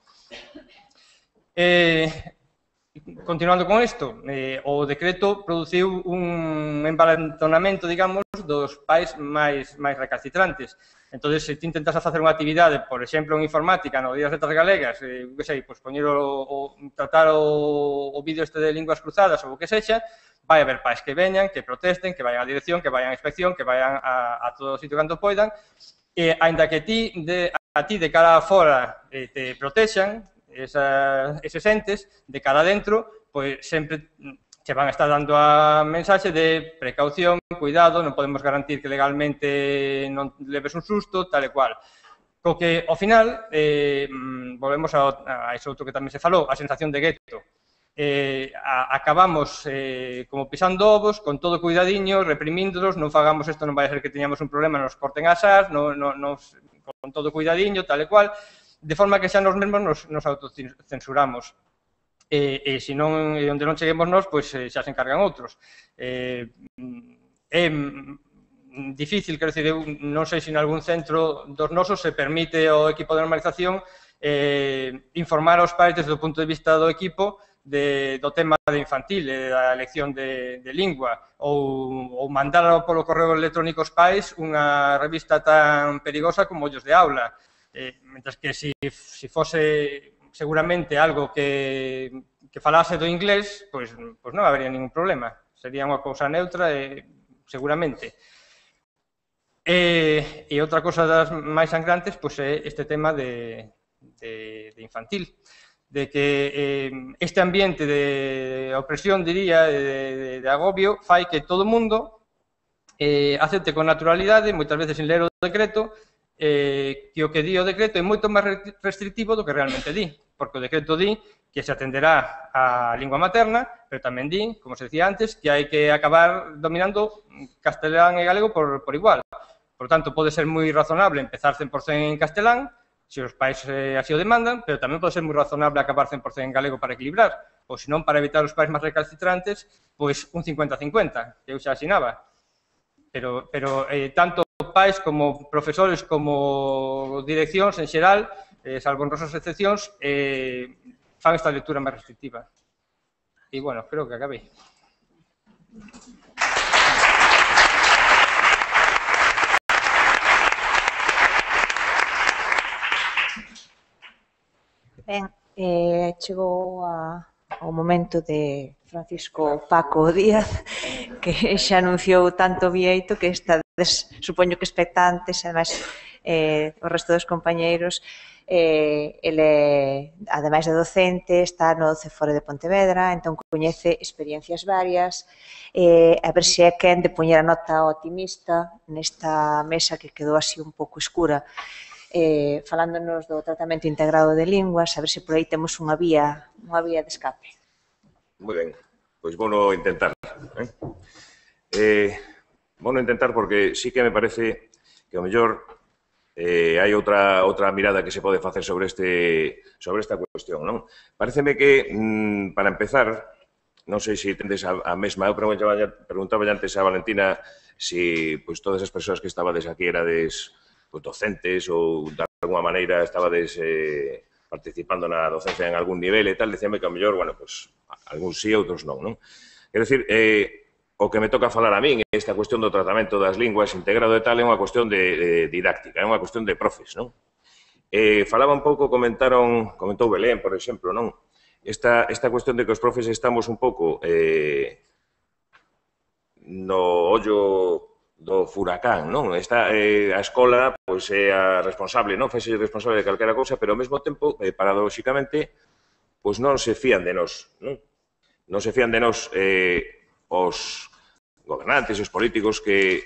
Continuando con isto, o decreto produciu un embalantonamento, digamos, dos pais máis recalcitrantes. Entón, se ti intentas facer unha actividade, por exemplo, en informática, no Día das Letras Galegas, que sei, poñer tratar o vídeo este de linguas cruzadas ou o que sexa, vai haber pais que veñan, que protesten, que vayan á dirección, que vayan á inspección, que vayan a todo o sitio cando poidan, e aínda que a ti de cara a fora te protexan, eses entes, de cara adentro, pois sempre che van a estar dando a mensaxe de precaución, cuidado, non podemos garantir que legalmente non leves un susto, tal e cual. Co que, ao final, volvemos a iso outro que tamén se falou, a sensación de gueto. Acabamos como pisando ovos, con todo cuidadiño, reprimíndolos, non fagamos isto, non vai a ser que teñamos un problema, nos corten as ás, con todo cuidadiño, tal e cual, de forma que xa nos mesmos nos autocensuramos. e se non, onde non cheguemos nós, pois xa se encargan outros. É difícil, quero dicir, eu non sei se en algún centro dos nosos se permite ao equipo de normalización informar aos pais desde o punto de vista do equipo do tema de infantil, da lección de lingua, ou mandar polo correo electrónico aos pais unha revista tan perigosa como Ollos de Aula. Mentre que se fose seguramente algo que falase do inglés, pois non habería ningún problema. Sería unha cousa neutra, seguramente. E outra cosa das máis sangrantes é este tema de infantil, de que este ambiente de opresión, diría, de agobio, fai que todo o mundo acepte con naturalidade, moitas veces sin ler o decreto, que o que di o decreto é moito máis restrictivo do que realmente di, porque o decreto di que se atenderá a lingua materna, pero tamén di, como se decía antes, que hai que acabar dominando castelán e galego por igual. Por tanto, pode ser moi razonable empezar 100% en castelán, se os pais así o demandan, pero tamén pode ser moi razonable acabar 100% en galego para equilibrar, ou senón, para evitar os pais máis recalcitrantes, pois un 50-50, que eu xa asinaba. Pero tanto pais como profesores como direccións en xeral, salvo honrosas excepcións, fan esta lectura máis restrictiva. E, bueno, creo que acabei. Ben, chegou ao momento de Francisco Paco Díaz, que xa anunciou tanto vieito que estades, supoño que expectantes, ademais, o resto dos compañeiros. Ele, ademais de docente, está no CEFORE de Pontevedra, entón coñece experiencias varias, a ver se é quen de poñer a nota optimista nesta mesa que quedou así un pouco escura, falándonos do tratamento integrado de linguas, a ver se por aí temos unha vía de escape. Moi ben, pois vou intentar. Vou intentar porque sí que me parece que ao mellor hai outra mirada que se pode facer sobre esta cuestión, non? Pareceme que, para empezar, non sei se tendes a mesma, eu preguntaba antes a Valentina se todas as persoas que estabades aquí erades docentes ou de alguma maneira estabades participando na docencia en algún nivel e tal, decíame que ao mellor, bueno, algúns sí, outros non, non? Quero dicir, o que me toca falar a min, esta cuestión do tratamento das linguas integrado e tal, é unha cuestión de didáctica, é unha cuestión de profes, non? Falaba un pouco, comentou Belén, por exemplo, non? Esta cuestión de que os profes estamos un pouco no ollo do furacán, non? A escola é a responsable, non? Fese responsable de calquera cousa, pero ao mesmo tempo, paradóxicamente, non se fían de nós, non? Non se fían de nós os gobernantes e os políticos que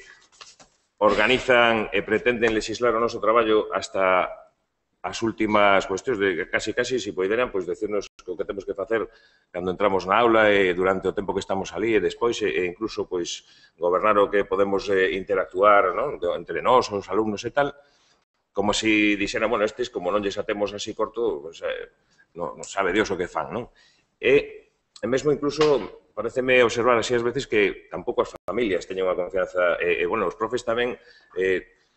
organizan e pretenden legislar o noso traballo hasta as últimas cuestións de casi, se poderan, decirnos o que temos que facer cando entramos na aula e durante o tempo que estamos ali e despois e incluso gobernar o que podemos interactuar entre nós, os alumnos e tal, como se dixeran, bueno, estes, como non lles atemos así corto, non sabe Dios o que fan, non? E mesmo incluso pareceme observar así ás veces que tampouco as familias teñen unha confianza, bueno, os profes tamén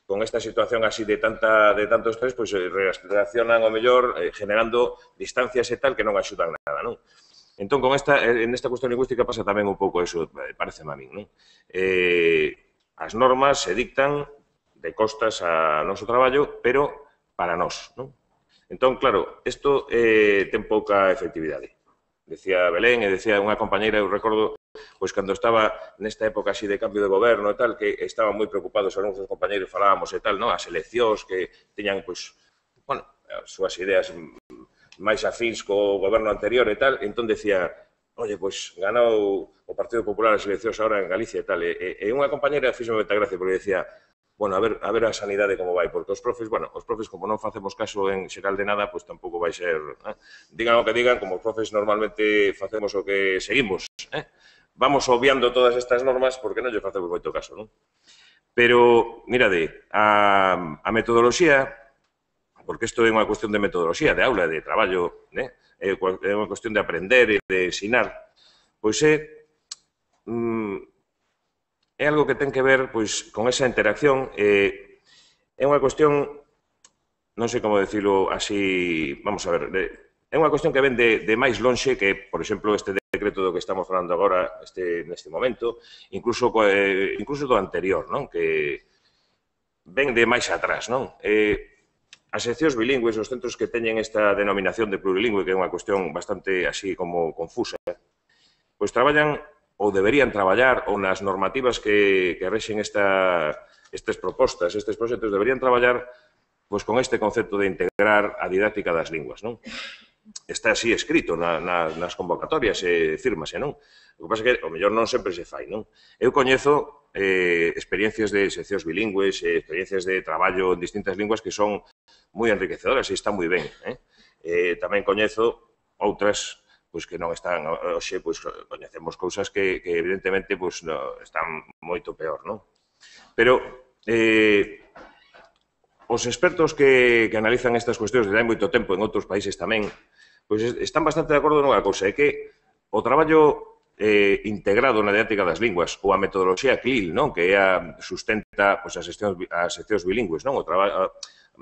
con esta situación así de tanto estrés, reaccionan ao mellor generando distancias e tal que non axudan nada, non? Entón, en esta cuestión lingüística pasa tamén un pouco eso, pareceme a min, non? As normas se dictan de costas a noso traballo, pero para nós, non? Entón, claro, isto ten pouca efectividade. Decía Belén e decía unha compañeira, eu recordo, cando estaba nesta época así de cambio de goberno e tal, que estaban moi preocupados, algúns dos compañeiros falábamos e tal, as eleccións que teñan, bueno, as súas ideas máis afíns co goberno anterior e tal, entón decía, oye, ganou o Partido Popular as eleccións agora en Galicia e tal, e unha compañeira fíxome moita gracia porque decía, bueno, a ver a sanidade como vai, porque os profes, como non facemos caso en xeral de nada, tampouco vai ser, digan o que digan, como os profes normalmente facemos o que seguimos, vamos obviando todas estas normas porque non lle facemos moito caso, non? Pero, mirade, a metodoloxía, porque isto é unha cuestión de metodoloxía, de aula, de traballo, é unha cuestión de aprender e de ensinar, pois é algo que ten que ver con esa interacción, é unha cuestión, non sei como decirlo así, vamos a ver, é unha cuestión que ven de máis lonxe que, por exemplo, este decreto do que estamos falando agora, neste momento, incluso do anterior, non? Que ven de máis atrás, non? As seccións bilingües, os centros que teñen esta denominación de plurilingüe, que é unha cuestión bastante así como confusa, pois traballan ou deberían traballar, ou nas normativas que rexen estas propostas, estes proxectos, deberían traballar pois con este concepto de integrar a didáctica das linguas, non? Está así escrito nas convocatorias, fírmase, non? O que pasa é que, ao mellor, non sempre se fai, non? Eu coñezo experiencias de seccións bilingües, experiencias de traballo en distintas linguas que son moi enriquecedoras e están moi ben. Tamén coñezo outras que non están, hoxe, coñecemos cousas que evidentemente están moito peor, non? Pero os expertos que analizan estas cuestións desde hai moito tempo en outros países tamén, pois están bastante de acordo nunha cousa, é que o traballo integrado na didáctica das linguas ou a metodoloxía CLIL, non? Que sustenta as seccións bilingües, non?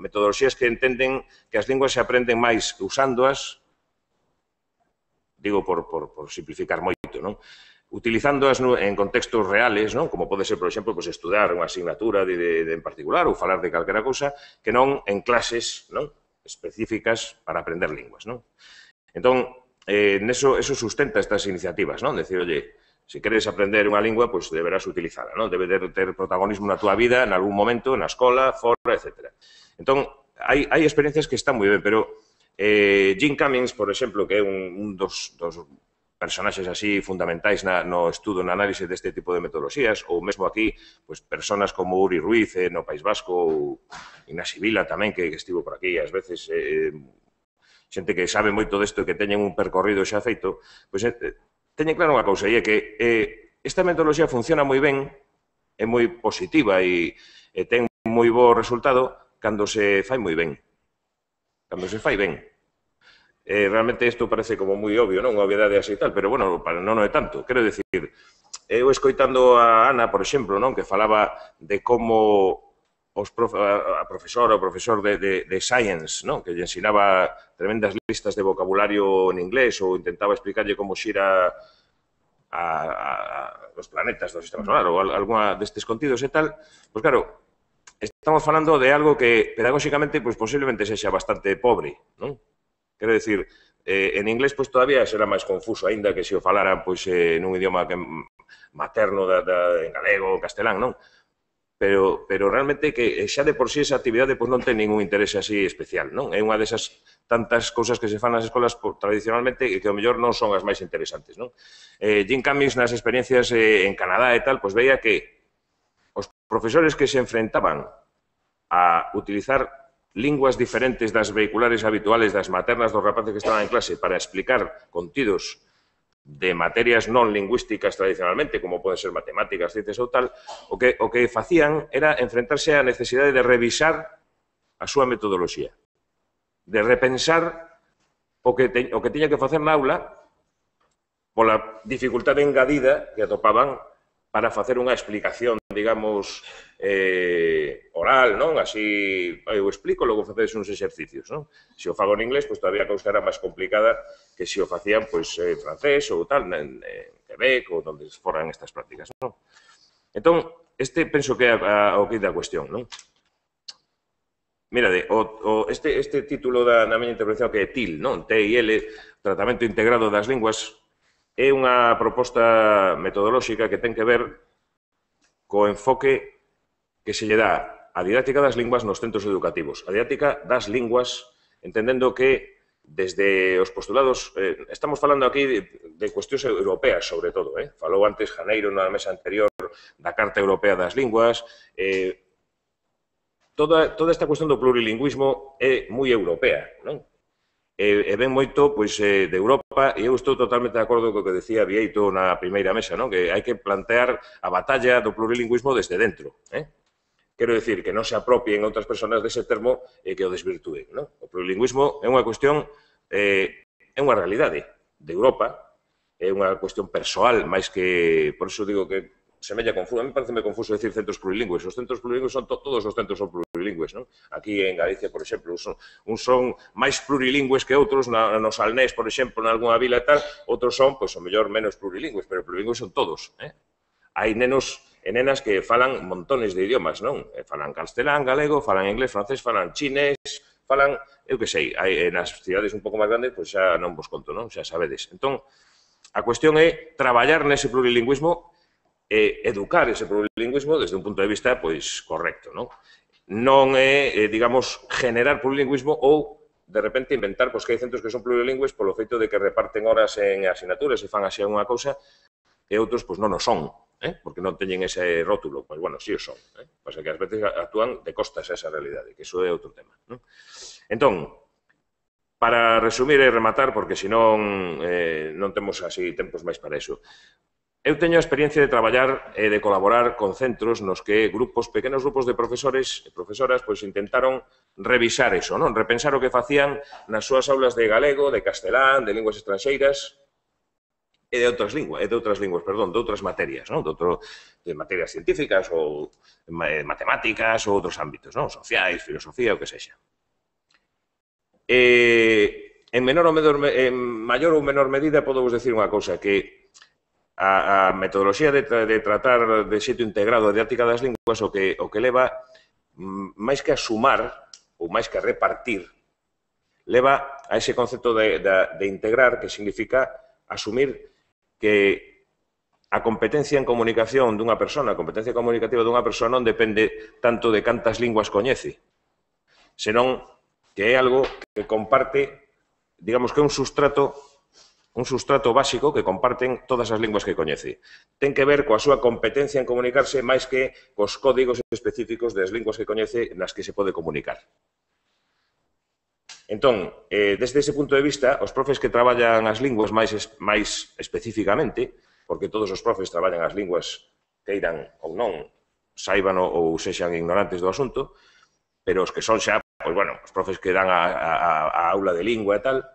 Metodoloxías que entenden que as linguas se aprenden máis usándoas, digo por simplificar moito, non? Utilizándoas en contextos reales, non? Como pode ser, por exemplo, estudar unha asignatura en particular ou falar de calquera cousa, que non en clases específicas para aprender linguas, non? Entón, eso sustenta estas iniciativas, non? Decir, oye, se queres aprender unha lingua, pois deberás utilizala, non? Debe ter protagonismo na túa vida, en algún momento, na escola, fora, etc. Entón, hai experiencias que están moi ben, pero Jim Cummings, por exemplo, que é un dos personaxes así fundamentais no estudo, na análise deste tipo de metodoloxías, ou mesmo aquí, personas como Uri Ruiz no País Vasco, ou Ignasi Vila tamén, que estivo por aquí, ás veces xente que sabe moito desto e que teñen un percorrido xa feito, pois teñen claro unha cousa, e é que esta metodoloxía funciona moi ben, é moi positiva e ten moi bo resultado cando se fai moi ben. Cando se fai ben. Realmente isto parece como moi obvio, non? Unha obviedade así e tal, pero, bueno, non é tanto. Quero dicir, eu escoitando a Ana, por exemplo, non? Que falaba de como a profesora ou profesor de Science, non? Que lle ensinaba tremendas listas de vocabulario en inglés ou intentaba explicarlle como xira os planetas do sistema solar ou alguna destes contidos e tal, pois claro, estamos falando de algo que pedagóxicamente posiblemente sexa bastante pobre, non? Quero dicir, en inglés todavía será máis confuso, aínda que se o falaran nun idioma materno en galego ou castelán, non? Pero realmente que xa de por sí esa actividade non ten ningún interese así especial, non? É unha desas tantas cousas que se fan nas escolas tradicionalmente e que ao mellor non son as máis interesantes, non? Jim Cummings nas experiencias en Canadá e tal, veía que os profesores que se enfrentaban a utilizar linguas diferentes das vehiculares habituales das maternas dos rapaces que estaban en clase para explicar contidos de materias non lingüísticas tradicionalmente, como poden ser matemáticas, ciencias ou tal, o que facían era enfrentarse á necesidade de revisar a súa metodoloxía, de repensar o que tiña que facer na aula pola dificultade engadida que atopaban para facer unha explicación, digamos, oral, non? Así, eu explico, logo facedes uns exercicios, non? Se o fago en inglés, todavía a cousa era máis complicada que se o facían, en francés ou tal, en Quebec ou onde foran estas prácticas, non? Entón, penso que é o que da cuestión, non? Mirade, este título da miña intervención que é TIL, non? TIL, Tratamento Integrado das Linguas, é unha proposta metodolóxica que ten que ver co enfoque que se lle dá a didáctica das linguas nos centros educativos. A didáctica das linguas, entendendo que desde os postulados, estamos falando aquí de cuestións europeas, sobre todo, falou antes Janeiro na mesa anterior da Carta Europea das Linguas, toda esta cuestión do plurilingüismo é moi europea, non? E ven moito de Europa, e eu estou totalmente de acordo co que decía Vieito na primeira mesa, que hai que plantear a batalla do plurilingüismo desde dentro. Quero dicir que non se apropien outras persoas dese termo e que o desvirtúen. O plurilingüismo é unha cuestión é unha realidade de Europa, é unha cuestión persoal, máis que, por iso digo que semella confuso. A mí parece confuso decir centros plurilingües. Os centros plurilingües son todos os centros son plurilingües, non? Aquí en Galicia, por exemplo, uns son máis plurilingües que outros, no Salnés, por exemplo, en algunha vila e tal, outros son, pois, o mellor, menos plurilingües, pero plurilingües son todos, Hai nenos e nenas que falan montones de idiomas, non? Falan castelán, galego, falan inglés, francés, falan chinés, falan, eu que sei, nas cidades un pouco máis grandes, pois xa non vos conto, non? Xa sabedes. Entón, a cuestión é traballar nese plurilingüismo e educar ese plurilingüismo desde un punto de vista, pois, correcto, non? Non é, digamos, generar plurilingüismo ou, de repente, inventar, pois, que hai centros que son plurilingües polo feito de que reparten horas en asignaturas e fan así unha cousa e outros, pois, non o son, porque non teñen ese rótulo. Pois, bueno, sí o son. Pasa que ás veces actúan de costas a esa realidade, que iso é outro tema, non? Entón, para resumir e rematar, porque senón non temos así tempos máis para iso, eu teño a experiencia de traballar e de colaborar con centros nos que pequenos grupos de profesores e profesoras pois intentaron revisar eso, non? Repensar o que facían nas súas aulas de galego, de castelán, de linguas estranxeiras e de outras materias, non? De materias científicas ou matemáticas ou outros ámbitos, non? Sociais, filosofía, o que sexa. En maior ou menor medida, podo vos decir unha cousa, que a metodoloxía de tratar de xeito integrado a didáctica das linguas o que leva, máis que a sumar ou máis que a repartir, leva a ese concepto de integrar, que significa asumir que a competencia en comunicación dunha persona, a competencia comunicativa dunha persona non depende tanto de cantas linguas coñece, senón que é algo que comparte, digamos que é un sustrato básico que comparten todas as linguas que coñece. Ten que ver coa súa competencia en comunicarse máis que cos códigos específicos das linguas que coñece nas que se pode comunicar. Entón, desde ese punto de vista, os profes que traballan as linguas máis especificamente, porque todos os profes traballan as linguas queiran ou non, saiban ou sexan ignorantes do asunto, pero os que son xa, pois, bueno, os profes que dan a aula de lingua e tal,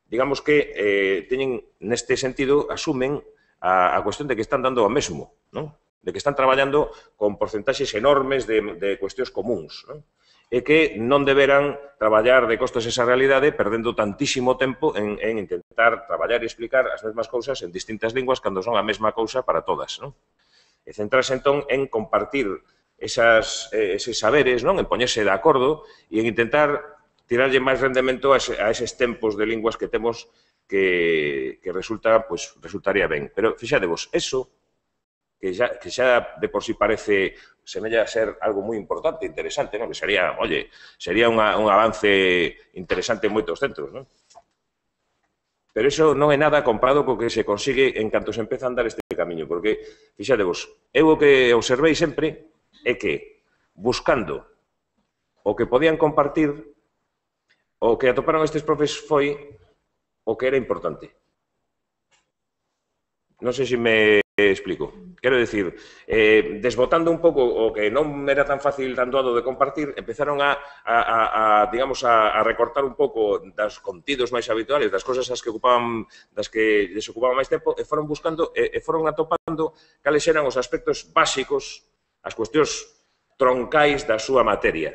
digamos que teñen, neste sentido, asumen a cuestión de que están dando o mesmo, non? De que están traballando con porcentaxes enormes de cuestións comuns, non? E que non deberan traballar de costas esa realidade perdendo tantísimo tempo en intentar traballar e explicar as mesmas cousas en distintas linguas cando son a mesma cousa para todas, non? E centrarse, entón, en compartir eses saberes, non? En poñerse de acordo e en intentar tirarlle máis rendemento a eses tempos de linguas que temos que resultaría ben. Pero, fixadevos, eso, que xa de por si parece, semella ser algo moi importante, interesante, non? Que sería un avance interesante en moitos centros, non? Pero eso non é nada comparado co que se consigue en canto se empeza a andar este camiño, porque, fixadevos, eu o que observei sempre é que, buscando o que podían compartir, o que atoparon estes profes foi o que era importante. Non sei se me explico. Quero dicir, desbotando un pouco o que non era tan fácil, tan doado de compartir, empezaron digamos, a recortar un pouco das contidos máis habituales, das cosas das que les ocupaban máis tempo, e foron buscando, e foron atopando cales eran os aspectos básicos, as cuestións troncais da súa materia.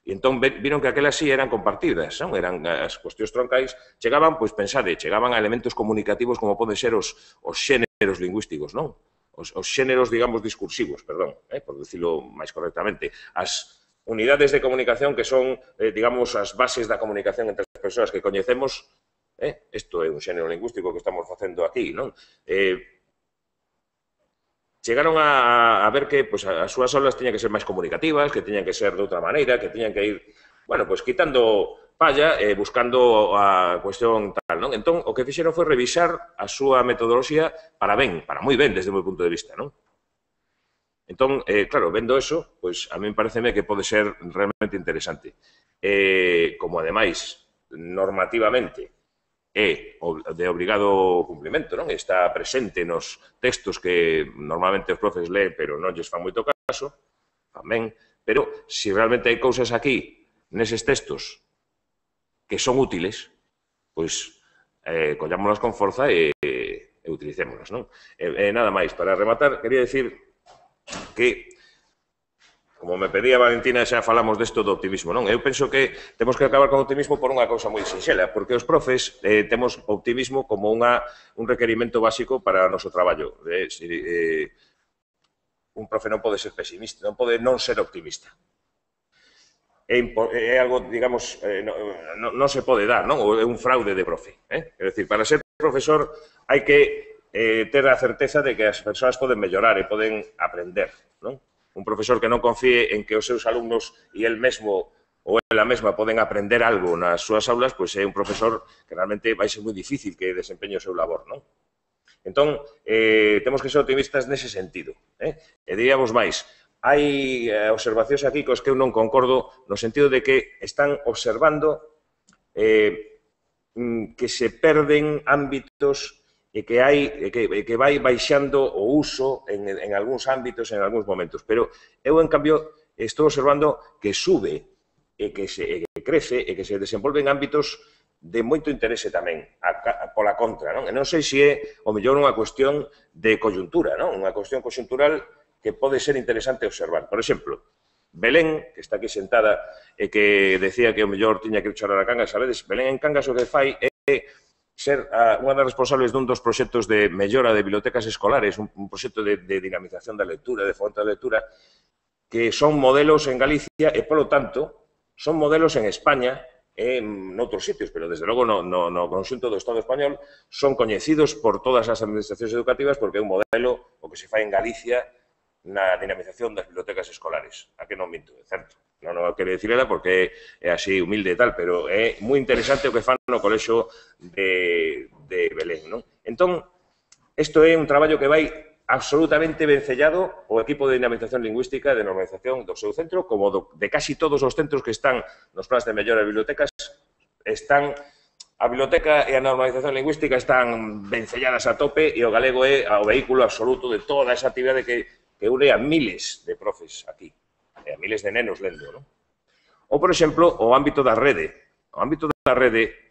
E entón viron que aquelas sí eran compartidas, non? Eran as cuestións troncais, chegaban, pois pensade, chegaban a elementos comunicativos como poden ser os xéneros lingüísticos, non? Os xéneros, digamos, discursivos, perdón, por dicilo máis correctamente. As unidades de comunicación que son, digamos, as bases da comunicación entre as persoas que coñecemos, isto é un xénero lingüístico que estamos facendo aquí, non? Chegaron a ver que as súas aulas teñan que ser máis comunicativas, que teñan que ser de outra maneira, que teñan que ir, bueno, pois quitando palla e buscando a cuestión tal, non? Entón, o que fixeron foi revisar a súa metodoloxía para moi ben, desde o meu punto de vista, non? Entón, claro, vendo eso, pois a mí pareceme que pode ser realmente interesante. Como, ademais, normativamente, é de obrigado cumprimento, non? Está presente nos textos que normalmente os profes leen, pero non lles fan moito caso, tamén, pero se realmente hai cousas aquí, neses textos, que son útiles, pois collámonos con forza e utilicémonos, non? Nada máis, para rematar, quería decir que, como me pedía Valentina, xa falamos desto do optimismo, non? Eu penso que temos que acabar con o optimismo por unha cousa moi sinxela, porque os profes temos optimismo como un requerimento básico para o noso traballo. Un profe non pode ser pesimista, non pode non ser optimista. É algo, digamos, non se pode dar, non? É un fraude de profe. É dicir, para ser profesor hai que ter a certeza de que as persoas poden mellorar e poden aprender, non? Un profesor que non confíe en que os seus alumnos e el mesmo ou ela mesma poden aprender algo nas súas aulas, pois é un profesor que realmente vai ser moi difícil que desempeñe o seu labor, non? Entón, temos que ser optimistas nese sentido. E diríamos máis, hai observacións aquí cos que eu non concordo no sentido de que están observando que se perden ámbitos e que vai baixando o uso en algúns ámbitos, en algúns momentos. Pero eu, en cambio, estou observando que sube e que crece e que se desenvolven ámbitos de moito interese tamén, pola contra, non? E non sei se é, o mellor, unha cuestión de coyuntura, non? Unha cuestión coyuntural que pode ser interesante observar. Por exemplo, Belén, que está aquí sentada e que decía que o mellor tiña que chorar a Cangas, sabedes, Belén en Cangas o que fai é ser unha das responsables dun dos proxectos de mellora de bibliotecas escolares, un proxecto de dinamización da lectura, de fomento da lectura, que son modelos en Galicia e, polo tanto, son modelos en España e noutros sitios, pero desde logo no conxunto do Estado español son coñecidos por todas as administracións educativas porque é un modelo o que se fai en Galicia na dinamización das bibliotecas escolares. A que non minto, é certo. Non quero dicir ela porque é así humilde e tal, pero é moi interesante o que fan no colexo de Belén, non? Entón, isto é un traballo que vai absolutamente vencellado o equipo de dinamización lingüística e de normalización do seu centro, como de casi todos os centros que están nos plans de mellora de bibliotecas, a biblioteca e a normalización lingüística están vencelladas a tope e o galego é o vehículo absoluto de toda esa actividade que une a miles de profes aquí, e a miles de nenos lendo, non? Ou, por exemplo, o ámbito da rede. O ámbito da rede,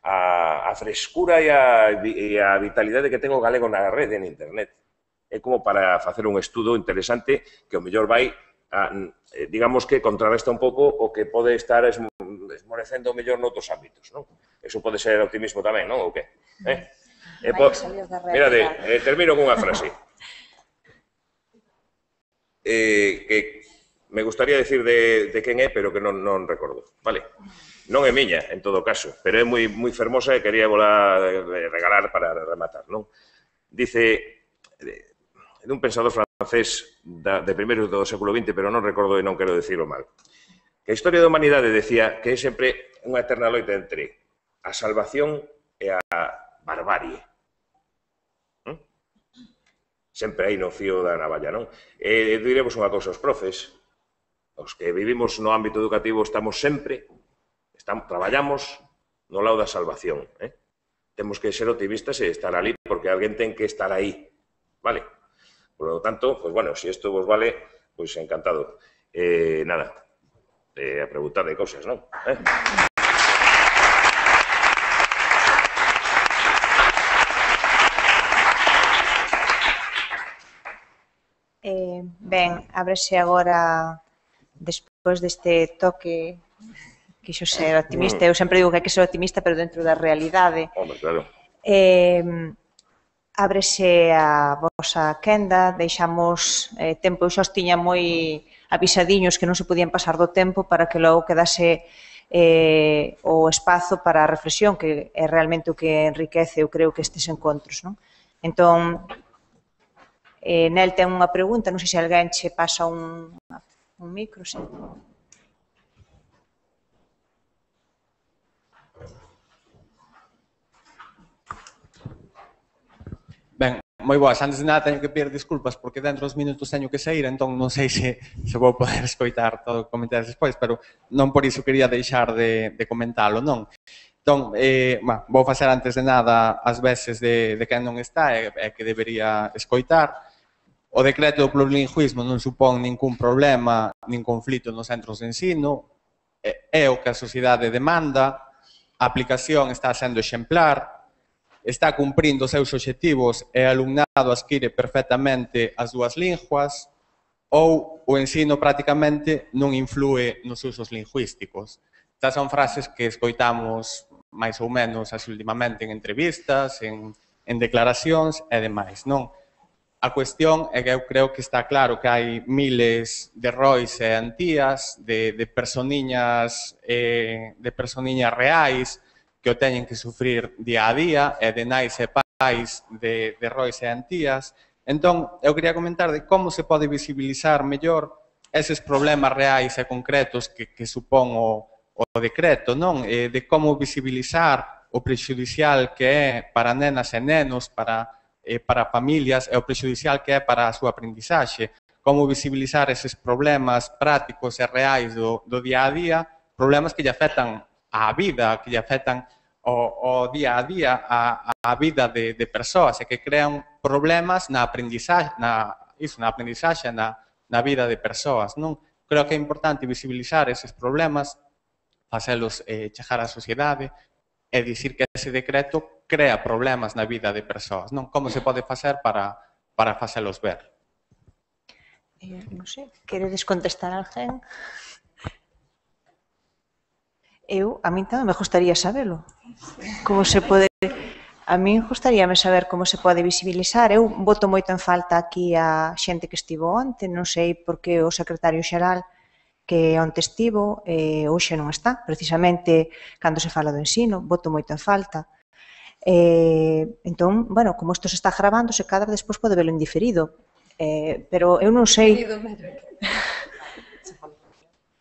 a frescura e a vitalidade que ten o galego na rede, en internet, é como para facer un estudo interesante que o mellor vai, digamos que contrarresta un pouco o que pode estar esmorecendo o mellor noutros ámbitos, non? Eso pode ser optimismo tamén, non? Ou que? Mirade, termino con unha frase. Que me gustaría decir de quen é, pero que non recordo, vale? Non é miña, en todo caso, pero é moi fermosa e quería volar regalar para rematar, non? Dice, dun pensador francés de primeiros do século XX, pero non recordo e non quero dicirlo mal, que a historia da humanidade decía que é sempre unha eterna loita entre a salvación e a barbarie. Sempre aí no fío da navalla, non? E diremos unha cousa, os profes, os que vivimos no ámbito educativo, traballamos no lado da salvación. Temos que ser optimistas e estar ali, porque alguén ten que estar aí, vale? Por lo tanto, pues bueno, se isto vos vale, pues encantado. Nada, a preguntar de cousas, non? Ben, ábrese agora, despois deste toque, quixo ser optimista. Eu sempre digo que hai que ser optimista, pero dentro da realidade. Hombre, claro. Ábrese a vosa quenda, deixamos tempo, eu xa os tiña moi avisadiños que non se podían pasar do tempo para que logo quedase o espazo para a reflexión, que é realmente o que enriquece, eu creo, que estes encontros, non? Entón, Nel ten unha pregunta, non sei se alguén che pasa un micro, sí. Ben, moi boas, antes de nada teño que pedir disculpas porque dentro dos minutos teño que sair, entón non sei se vou poder escoitar todo o que comentares despois, pero non por iso quería deixar de comentalo, non? Entón, vou facer antes de nada as veces de quen non está e que debería escoitar. O decreto do plurilingüismo non supón ningún problema, nin conflito nos centros de ensino, é o que a sociedade demanda, a aplicación está sendo exemplar, está cumprindo os seus obxectivos e o alumnado adquire perfectamente as dúas linguas, ou o ensino prácticamente non influe nos usos lingüísticos. Estas son frases que escoitamos máis ou menos así últimamente en entrevistas, en declaracións e demais, non? A cuestión é que eu creo que está claro que hai miles de rois e antías, de personiñas reais que o teñen que sufrir día a día, e de nais e pais de rois e antías. Entón, eu quería comentar de como se pode visibilizar mellor eses problemas reais e concretos que supón o decreto, non? De como visibilizar o prexudicial que é para nenas e nenos, para familias, e o prexudicial que é para a súa aprendizaxe, como visibilizar eses problemas prácticos e reais do día a día, problemas que lle afectan á vida, que lle afectan ao día a día, a vida de persoas, e que crean problemas na aprendizaxe, na vida de persoas, non? Creo que é importante visibilizar eses problemas, facelos chegar á sociedade, e dicir que ese decreto crea problemas na vida de persoas, non? Como se pode facer para facelos ver? Non sei, queredes contestar a alguén? A min tamén me gustaría sabelo. Como se pode... A min gustaríame saber como se pode visibilizar. Eu boto moito en falta aquí a xente que estivo onte, non sei porque o secretario xeral que onte estivo, hoxe non está, precisamente cando se fala do ensino, boto moito en falta. Entón, bueno, como isto se está gravando, se cadra despois pode velo en diferido, pero eu non sei...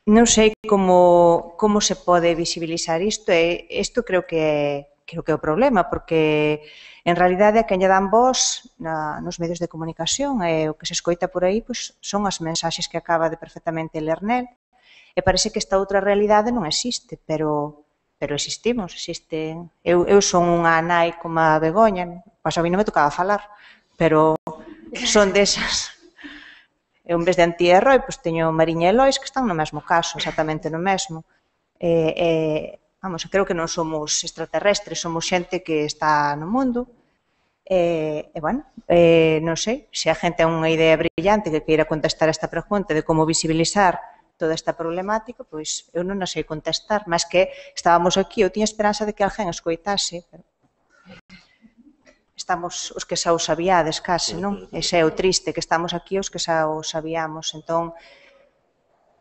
Non sei como se pode visibilizar isto, e isto creo que é o problema, porque en realidade a quen lle dan voz nos medios de comunicación e o que se escoita por aí son as mensaxes que acaba de perfectamente ler nel, e parece que esta outra realidade non existe, pero existimos, existen. Eu son unha nai como a Begoña, pois a mí non me tocaba falar, pero son desas. Eu, en vez de Antía e Roi, teño Mariña e Lois que están no mesmo caso, exactamente no mesmo. Vamos, creo que non somos extraterrestres, somos xente que está no mundo. Bueno, non sei, se a gente ten unha idea brillante que queira contestar esta pregunta de como visibilizar toda esta problemática, pois eu non a sei contestar, mas que estábamos aquí, eu tiña esperanza de que alguén escoitase, pero estamos os que xa o sabíades case, non? Ese é o triste, que estamos aquí os que xa o sabíamos, entón,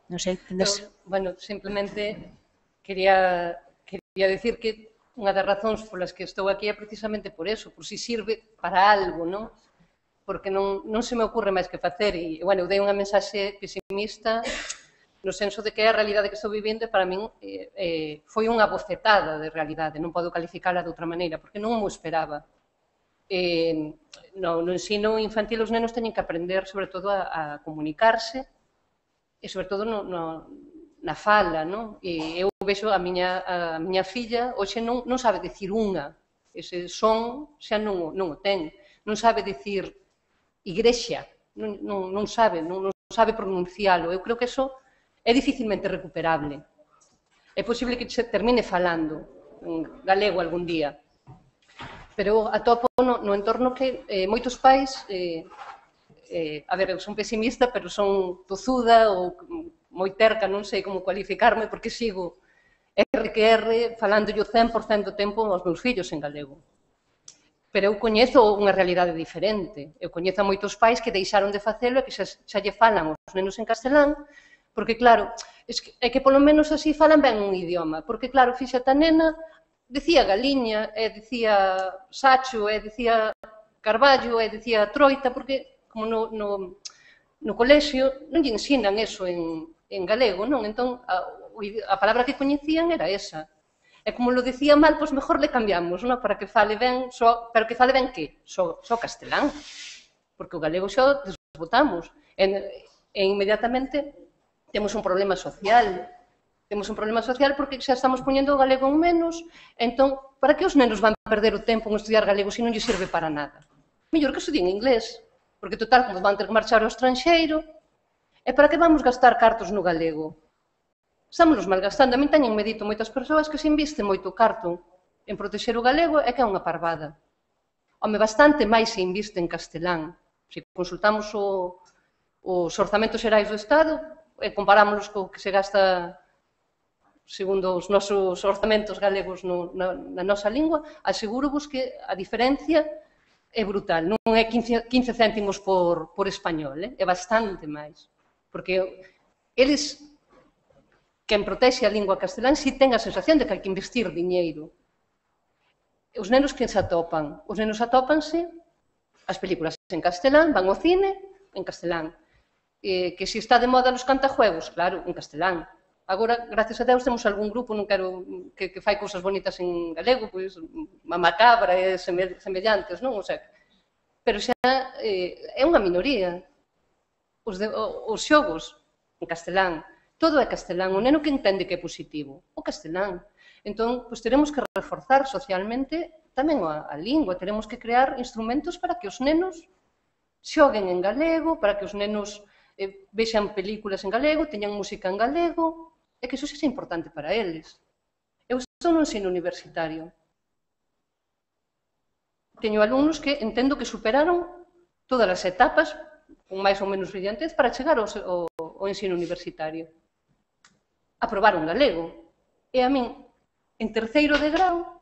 non sei, tendes... Bueno, simplemente quería decir que unha das razóns polas que estou aquí é precisamente por eso, por si sirve para algo, non? Porque non se me ocurre máis que facer, e, bueno, eu dei unha mensaxe pesimista no senso de que a realidade que estou vivindo para min foi unha bofetada de realidade, non podo calificala de outra maneira, porque non mo esperaba. No ensino infantil os nenos teñen que aprender, sobre todo, a comunicarse, e, sobre todo, na fala, non? E eu vexo a miña filla, hoxe non sabe dicir unha, ese son xa non o ten, non sabe dicir igrexa, non sabe pronuncialo. Eu creo que eso é dificilmente recuperable. É posible que se termine falando en galego algún día, pero atopo no entorno que moitos pais, a ver, eu son pesimista, pero son tozuda ou moi terca, non sei como cualificarme, porque sigo R falándolle o 100% do tempo aos meus fillos en galego. Pero eu coñezo unha realidade diferente. Eu coñezo a moitos pais que deixaron de facelo e que xa lle falan os nenos en castelán, porque, claro, é que polo menos así falan ben un idioma, porque, claro, fíxate a nena, dicía galiña, e dicía sacho, e dicía carballo, e dicía troita, porque, como no colexio, non lle ensinan eso en galego, non? Entón, a palabra que coñecían era esa. E como lo dicía mal, pois mellor le cambiamos, non? Para que fale ben, pero que fale ben que? Só castelán. Porque o galego xa o desbotamos. E inmediatamente temos un problema social. Temos un problema social porque xa estamos poñendo o galego en menos. Entón, para que os nenos van perder o tempo en estudiar galego se non lle serve para nada? Mellor que estudien inglés. Porque, total, como van ter que marchar ao estranxeiro, e para que vamos gastar cartos no galego? Estamos malgastando. A min teñenme dito moitas persoas que se inviste moito carto en protexer o galego é que é unha parvada. Home, bastante máis se inviste en castelán. Se consultamos os orzamentos xerais do Estado e comparámoslos co que se gasta segundo os nosos orzamentos galegos na nosa lingua, aseguro-vos que a diferencia é brutal. Non é 15 céntimos por español, é bastante máis. Porque eles, quen protexe a lingua castelán, si ten a sensación de que hai que investir diñeiro. Os nenos que se atopan? Os nenos atópanse as películas en castelán, van ao cine en castelán. Que se está de moda nos cantajuegos, claro, en castelán. Agora, gracias a Deus, temos algún grupo, non quero que fai cousas bonitas en galego, pois, a macabra e semellantes, non? O sea, pero xa é unha minoría. Os xogos en castelán, todo é castelán. O neno que entende que é positivo, o castelán. Entón, pois, teremos que reforzar socialmente tamén a lingua, teremos que crear instrumentos para que os nenos xoguen en galego, para que os nenos vexan películas en galego, teñan música en galego, e que iso sexa importante para eles. Eu estou no ensino universitario. Teño alumnos que entendo que superaron todas as etapas, con máis ou menos brillantez, para chegar ao ensino universitario. Aprobaron galego. E a min, en terceiro de grau,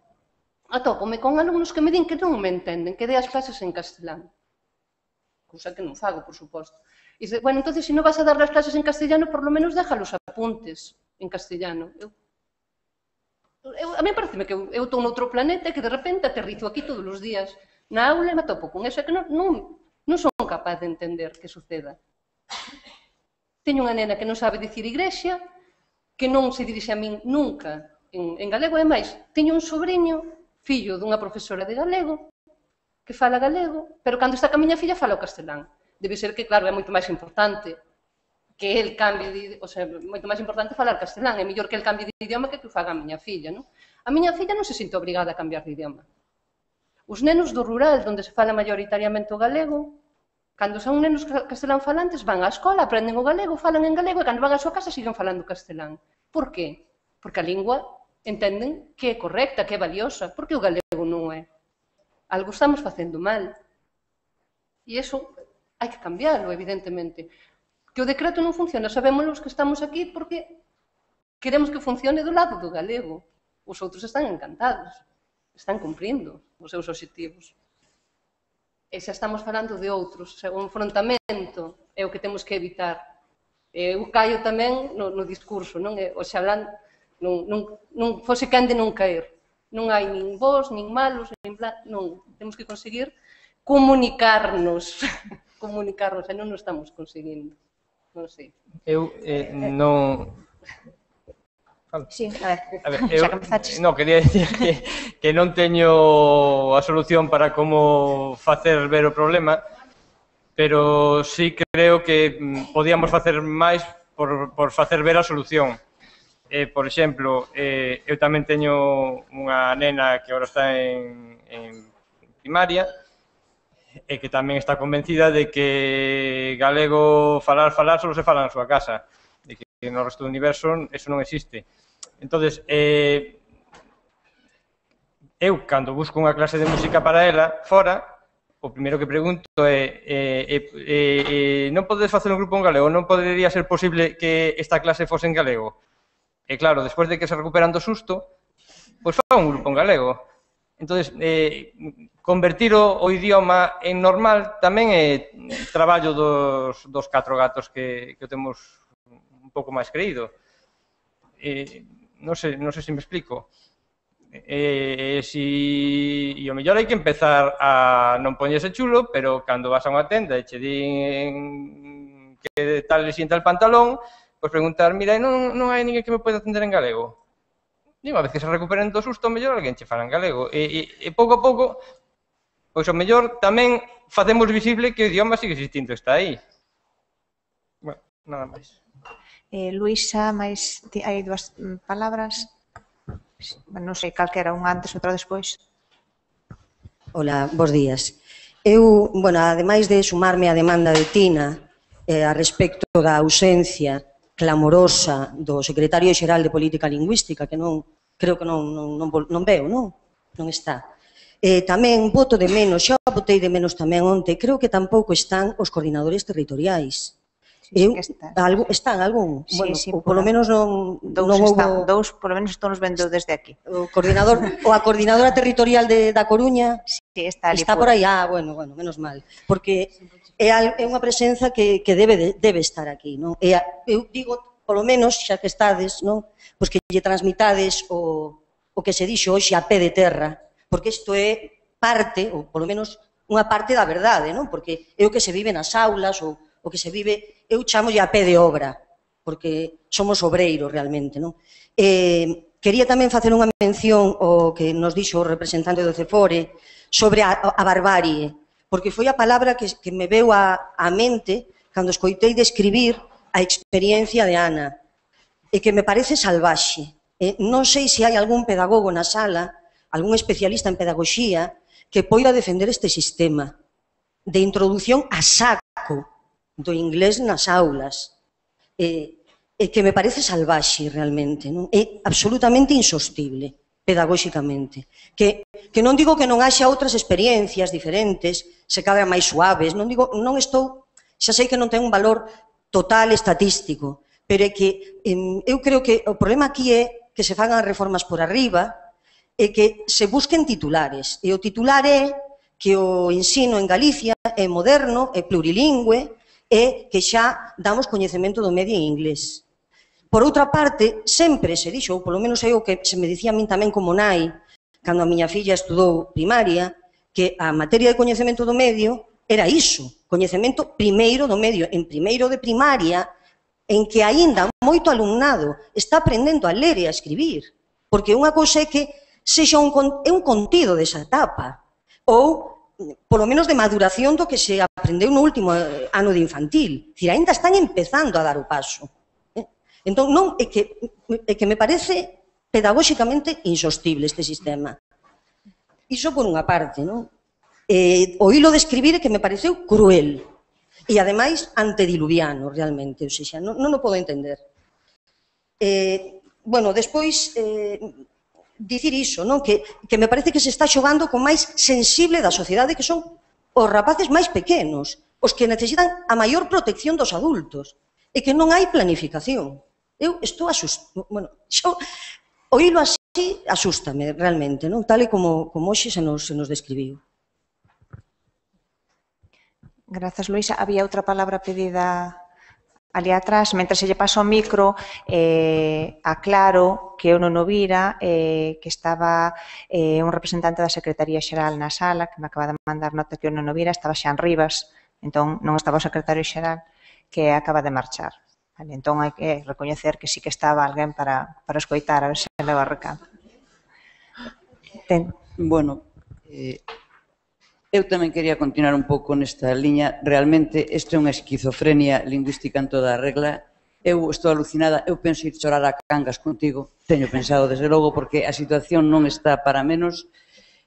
atópome con alumnos que me din que non me entenden, que dei as clases en castelán. Cousa que non fago, por suposto. E dice, bueno, entonces, se non vas a dar as clases en castellano, por lo menos deja los apuntes en castellano. A mí pareceme que eu estou noutro planeta e que de repente aterrizo aquí todos os días na aula e me atopo con eso, que non son capaz de entender que suceda. Teño unha nena que non sabe dicir igrexa, que non se dirixe a min nunca en galego, e máis, teño un sobrinho, fillo dunha profesora de galego, que fala galego, pero cando está ca miña filla fala o castelán. Debe ser que, claro, é moito máis importante que el cambie de... O sea, moito máis importante falar castelán. É mellor que el cambie de idioma que o faga a miña filla, non? A miña filla non se sente obrigada a cambiar de idioma. Os nenos do rural, onde se fala maioritariamente o galego, cando son nenos castelán falantes, van á escola, aprenden o galego, falan en galego, e cando van á súa casa siguen falando castelán. Por qué? Porque a lingua entenden que é correcta, que é valiosa. Porque o galego non é. Algo estamos facendo mal. E iso hai que cambiarlo, evidentemente. Que o decreto non funciona, sabémoslo os que estamos aquí porque queremos que funcione do lado do galego. Os outros están encantados, están cumprindo os seus obxectivos. E xa estamos falando de outros, o enfrontamento é o que temos que evitar. Eu caio tamén no discurso, non? O xalán non fose quen de non caer. Non hai nin bons, nin malos, non. Temos que conseguir comunicarnos, e non o estamos conseguindo. Non sei. Eu non... Sí, a ver, xa comezaches. Non, quería dicir que non teño a solución para como facer ver o problema, pero sí creo que podíamos facer máis por facer ver a solución. Por exemplo, eu tamén teño unha nena que agora está en primaria, e que tamén está convencida de que galego falar só se fala na súa casa, de que no resto do universo eso non existe. Entonces, eu, cando busco unha clase de música para ela, fora, o primeiro que pregunto é non podedes facer un grupo en galego? Non podería ser posible que esta clase fose en galego? E claro, despois de que se recuperan do susto, pois fan un grupo en galego. Entonces, convertir o idioma en normal tamén é traballo dos 4 gatos que o temos un pouco máis creído. Non sei se me explico. E o mellor hai que empezar a non poñerse chulo, pero cando vas a unha tenda e che din que tal le sienta el pantalón, pois preguntar, mira, non hai ninguén que me poida atender en galego. E unha vez que se recuperen do susto, o mellor alguén che fala en galego. E pouco a pouco, pois o mellor tamén facemos visible que o idioma sigue existindo, está aí. Bueno, nada máis. Luísa, máis hai dúas palabras. Non sei, calquera, un antes, outro despois. Ola, bos días. Eu, bueno, ademais de sumarme á demanda de Tina a respecto da ausencia clamorosa do secretario xeral de Política Lingüística, que non, creo que non veo, non? Non está. Tamén voto de menos, xa votei de menos tamén onte, creo que tampouco están os coordinadores territoriais. Están algún? Bueno, ou polo menos non houve... Dous, polo menos estamos vendo desde aquí. O a coordinadora territorial da Coruña está por aí. Bueno, menos mal. Porque é unha presenza que debe estar aquí, non? Eu digo, polo menos, xa que estades, non? Pois que lle transmitades o que se dixo hoxe a pé de terra, porque isto é parte, ou polo menos unha parte da verdade, non? Porque é o que se vive nas aulas, ou o que se vive, eu chamo a pé de obra, porque somos obreiros realmente, non? Quería tamén facer unha mención ao que nos dixo o representante do CEFORE sobre a barbarie, porque foi a palabra que me veu á mente cando escoitei describir a experiencia de Ana, e que me parece salvaxe. Non sei se hai algún pedagogo na sala, algún especialista en pedagogía, que poida defender este sistema de introducción a saco do inglés nas aulas, que me parece salvaxe realmente, non? É absolutamente insostible pedagóxicamente. Que non digo que non haxa outras experiencias diferentes, se cabe máis suaves, non estou, xa sei que non ten un valor total estatístico, pero é que eu creo que o problema aquí é que se fagan reformas por arriba e que se busquen titulares. E o titular é que o ensino en Galicia é moderno, é plurilingüe, e que xa damos coñecemento do medio en inglés. Por outra parte, sempre se dixo, ou polo menos é o que se me dicía a min tamén como nai, cando a miña filla estudou primaria, que a materia de coñecemento do medio era iso, coñecemento primeiro do medio, en primeiro de primaria, en que aínda moito alumnado está aprendendo a ler e a escribir, porque unha cousa é que sexa un contido desa etapa, ou polo menos de maduración do que se aprendeu no último ano de infantil. Dicir, aínda están empezando a dar o paso. Entón, non, é que me parece pedagóxicamente insostible este sistema. Iso por unha parte, non? O hilo de escribir é que me pareceu cruel e, ademais, antediluviano, realmente. Ou seja, non o podo entender. Bueno, despois... dicir iso, non? Que me parece que se está xogando con máis sensible da sociedade, que son os rapaces máis pequenos, os que necesitan a maior protección dos adultos, e que non hai planificación. Eu estou asustado, bueno, oílo así asústame realmente, non? Tal e como hoxe se nos describiu. Grazas, Luisa. Había outra palabra pedida ali atrás, mentre se lle paso o micro, aclaro que eu non o vira, que estaba un representante da Secretaría Xeral na sala, que me acaba de mandar nota que eu non o vira, estaba Xan Rivas, entón non estaba o secretario xeral, que acaba de marchar. Entón hai que recoñecer que sí que estaba alguén para escoitar, a ver se leva recado. Bueno, eu tamén quería continuar un pouco nesta liña. Realmente, isto é unha esquizofrenia lingüística en toda a regla. Eu estou alucinada, eu penso ir chorar a Cangas contigo. Teño pensado, desde logo, porque a situación non está para menos.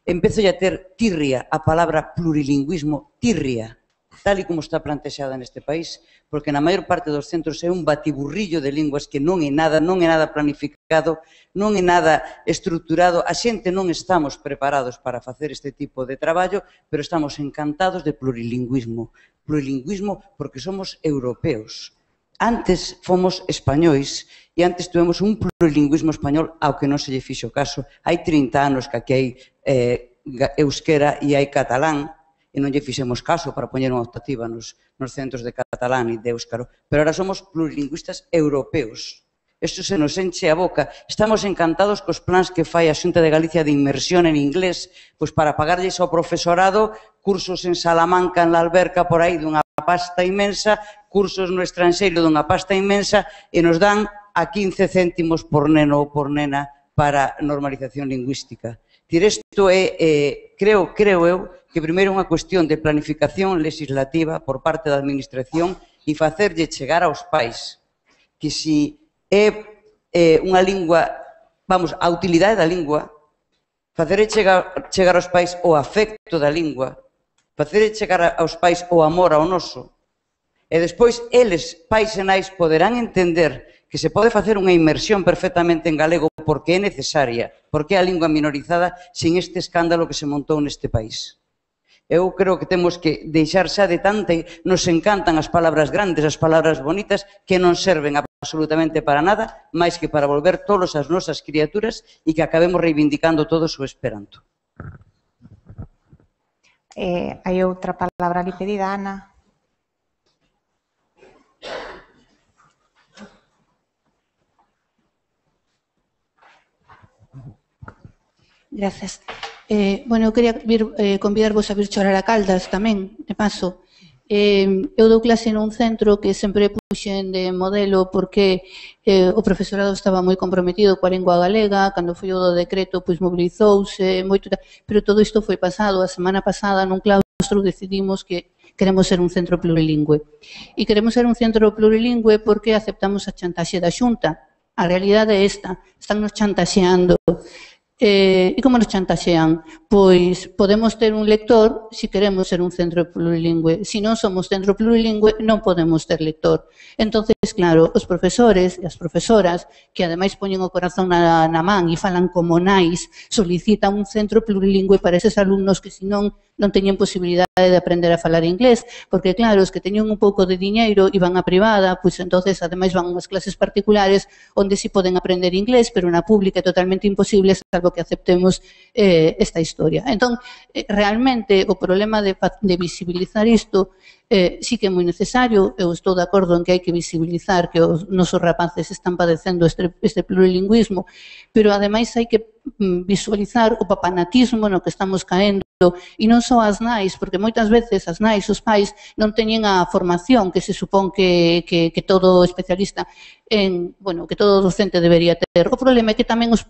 Empezo a ter tirria a palabra plurilingüismo, tirria, tal e como está plantexada neste país, porque na maior parte dos centros é un batiburrillo de linguas que non é nada planificado, non é nada estruturado. A xente non estamos preparados para facer este tipo de traballo, pero estamos encantados de plurilingüismo. Plurilingüismo porque somos europeos. Antes fomos españois e antes tuvemos un plurilingüismo español ao que non se lle fixo caso. Hai 30 anos que aquí hai euskera e hai catalán, e non lle fixemos caso para poñer unha optativa nos centros de catalán e de éuskaro. Pero ahora somos plurilingüistas europeos. Isto se nos enche a boca. Estamos encantados cos plans que fai a Xunta de Galicia de inmersión en inglés, pois para pagarlles ao profesorado cursos en Salamanca, en la Alberca, por aí, dunha pasta inmensa, cursos no estranxeiro dunha pasta inmensa, e nos dan a 15 céntimos por neno ou por nena para normalización lingüística. Isto é, creo eu, que primeiro é unha cuestión de planificación legislativa por parte da Administración e facerlle chegar aos pais que se é unha lingua, vamos, a utilidade da lingua, facerlle chegar aos pais o afecto da lingua, facerlle chegar aos pais o amor ao noso, E despois, eles, pais e nais, poderán entender que se pode facer unha inmersión perfectamente en galego porque é necesaria, porque é a lingua minorizada sin este escándalo que se montou neste país. Eu creo que temos que deixar xa de tanta... Nos encantan as palabras grandes, as palabras bonitas, que non serven absolutamente para nada, máis que para volver todos as nosas criaturas e que acabemos reivindicando todo o esperanto. Hai outra palabra ali pedida, Ana. Gracias. Bueno, eu quería convidarvos a vir chorar a Caldas tamén, de paso. Eu dou clase nun centro que sempre puxen de modelo porque o profesorado estaba moi comprometido coa lingua galega, cando foi o do decreto, pois mobilizouse, moito, pero todo isto foi pasado. A semana pasada, nun claustro, decidimos que queremos ser un centro plurilingüe. E queremos ser un centro plurilingüe porque aceptamos a chantaxe da Xunta. A realidade é esta, están nos chantaxeando. E como nos chantaxean? Pois podemos ter un lector se queremos ser un centro plurilingüe. Se non somos centro plurilingüe, non podemos ter lector. Entonces, claro, os profesores e as profesoras, que ademais poñen o corazón na man e falan como nais, solicitan un centro plurilingüe para eses alumnos que senón non teñen posibilidade de aprender a falar inglés, porque claro, os que teñen un pouco de diñeiro e van a privada, pois entonces ademais van unhas clases particulares onde si poden aprender inglés, pero na pública é totalmente imposible, salvo que aceptemos esta historia. Entón, realmente, o problema de visibilizar isto sí que é moi necesario. Eu estou de acordo en que hai que visibilizar que os nosos rapaces están padecendo este plurilingüismo, pero ademais hai que visualizar o papanatismo no que estamos caendo, e non só as nais, porque moitas veces as nais, os pais, non teñen a formación que se supón que todo especialista bueno, que todo docente debería ter. O problema é que tamén os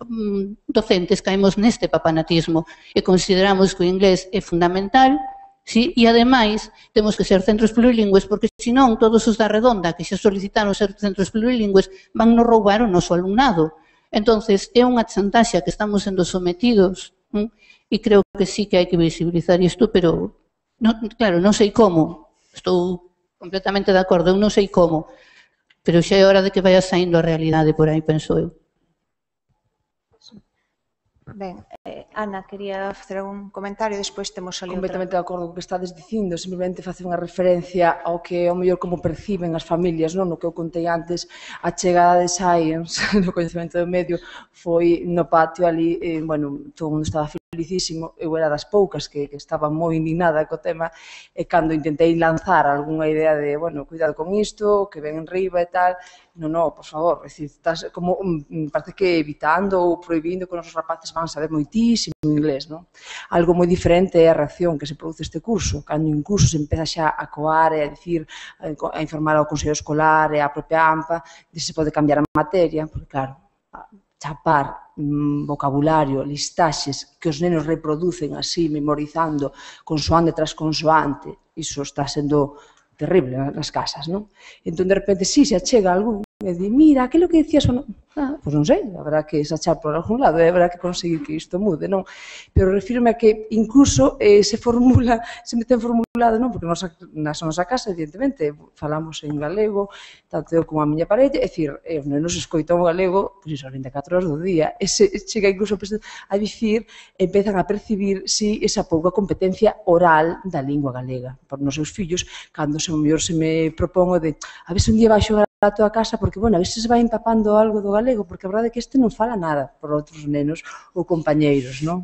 docentes caemos neste papanatismo e consideramos que o inglés é fundamental, sí, e ademais temos que ser centros plurilingües porque senón todos os da redonda que xa solicitaron ser centros plurilingües van nos roubar o noso alumnado. Entonces é unha chantaxe que estamos sendo sometidos, e creo que sí que hai que visibilizar isto, pero claro, non sei como, estou completamente de acordo, eu non sei como, pero xa é hora de que vaya saindo a realidade por aí, penso eu. Ben, Ana, quería facer algún comentario, despois temos ali outra. Completamente de acordo co que estades dicindo, simplemente facer unha referencia ao que ao mellor como perciben as familias, non? No que eu contei antes, a chegada de Science no coñecemento do medio foi no patio ali, bueno, todo o mundo estaba felicísimo, eu era das poucas que estaba moi indignada co tema, e cando intentei lanzar algunha idea de, bueno, cuidado con isto, que ven en riba e tal, non, por favor, estás como, parece que evitando ou prohibindo que os nosos rapaces van a saber moitísimo inglés, non? Algo moi diferente é a reacción que se produce este curso, cando un curso se empeza xa a coar e a dicir, a informar ao consello escolar e á propia AMPA, de se pode cambiar a materia, porque claro, chapar vocabulario, listaxes que os nenos reproducen así, memorizando consoante tras consoante, iso está sendo terrible nas casas, non? Entón, de repente, si se achega algún e di, mira, aquilo que decías ou non? Pois non sei, habrá que sachar por algún lado e habrá que conseguir que isto mude, non? Pero refírome a que incluso se ten formulado, non? Porque na nosa casa, evidentemente, falamos en galego, tanto eu como a miña parella, é dicir, os nenos escoitan o galego, pois iso, 24 horas do día, e se chega incluso a dicir, empezan a percibir, si, esa pouca competencia oral da lingua galega. Por nos seus fillos, cando se me propongo de, a ver se un día vai xogar a toda a casa, porque, bueno, a ver se vai empapando algo do galego, porque a verdade é que este non fala nada por outros nenos ou compañeiros, non?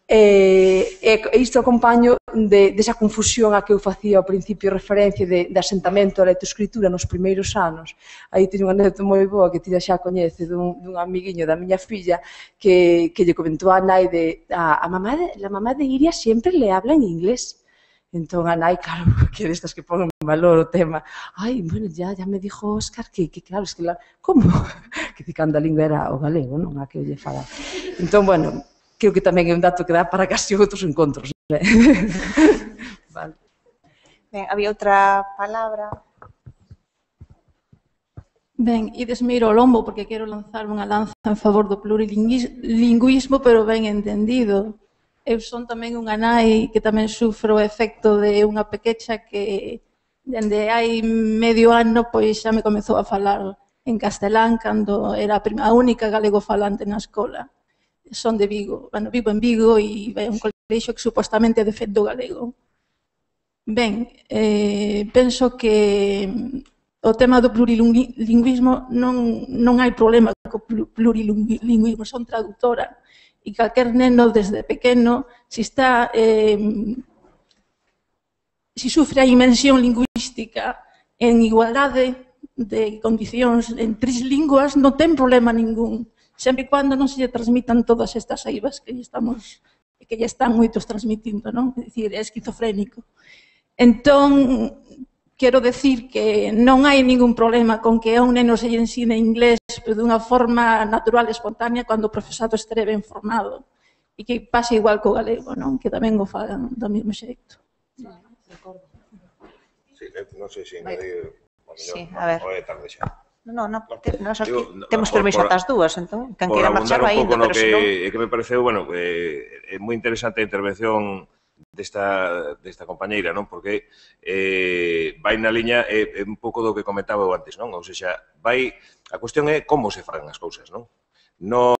E isto acompaño desa confusión a que eu facía ao principio referencia de asentamento a lectoescritura nos primeiros anos. Aí teño unha anécdota moi boa que ti xa coñece dun amiguiño da miña filla que lle comentou a nai de la mamá de Iria sempre le habla en inglés. Entón, a nai, claro, que destas que ponen en valor o tema, ai, bueno, ya me dijo Óscar que claro, es que como? Que cando a lingua era o galego, non? A que eu lle falaba. Entón, bueno, creo que tamén é un dato que dá para casi outros encontros, non? Vale. Ben, había outra palabra. Ben, idesme ir ao lombo porque quero lanzar unha lanza en favor do plurilingüismo, pero ben entendido. Eu son tamén unha nai que tamén sufro o efecto de unha pequecha que Dende hai medio ano, pois xa me comezou a falar en castelán cando era a única galego falante na escola. Son de Vigo, bueno, vivo en Vigo e é un colexio que supostamente é de feito galego. Ben, penso que o tema do plurilingüismo non hai problema co plurilingüismo, son traductora e calquer neno desde pequeno, se sufre a inmersión lingüística en igualdade de condicións en 3 linguas, non ten problema ningún, sempre e cando non se lle transmitan todas estas eivas que lle están moitos transmitindo, non? É dicir, é esquizofrénico. Entón, quero decir que non hai ningún problema con que a un neno se lle ensine inglés dunha forma natural e espontánea cando o profesorado estere ben formado e que pase igual co galego, non? Que tamén o fagan do mesmo xeito. Sí, non sei se Sí, a ver. é tarde xa. Non, temos permiso ata as dúas, entón, quen queira marchar vai indo, pero senón... que me pareceu, bueno, é moi interesante a intervención desta compañeira, non? Porque vai na liña un pouco do que comentaba eu antes, non? Ou seja, a cuestión é como se fan as cousas, non? Non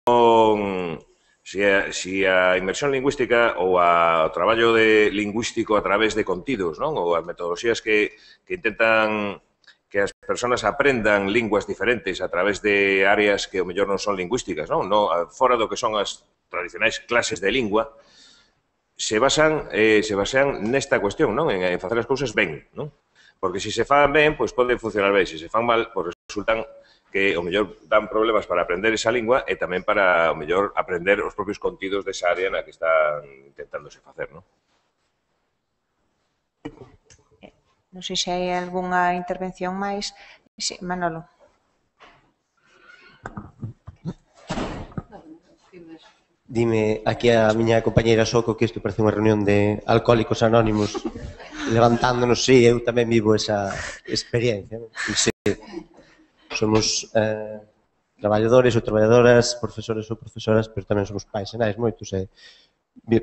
si a inmersión lingüística ou o traballo lingüístico a través de contidos, non? Ou as metodoloxías que intentan que as persoas aprendan linguas diferentes a través de áreas que o mellor non son lingüísticas, non? Fora do que son as tradicionais clases de lingua, se basan nesta cuestión, non? En facer as cousas ben, non? Porque se se fan ben, pois pode funcionar ben. Se se fan mal, pois resultan que o mellor dan problemas para aprender esa lingua e tamén para o mellor aprender os propios contidos desa área na que están intentándose facer, non? Non sei se hai algunha intervención máis. Sí, Manolo. Dime aquí a miña compañeira Soco que isto parece unha reunión de alcohólicos anónimos levantándonos, sí, eu tamén vivo esa experiencia. Sí, somos traballadores ou traballadoras, profesores ou profesoras, pero tamén somos pais e nais moitos e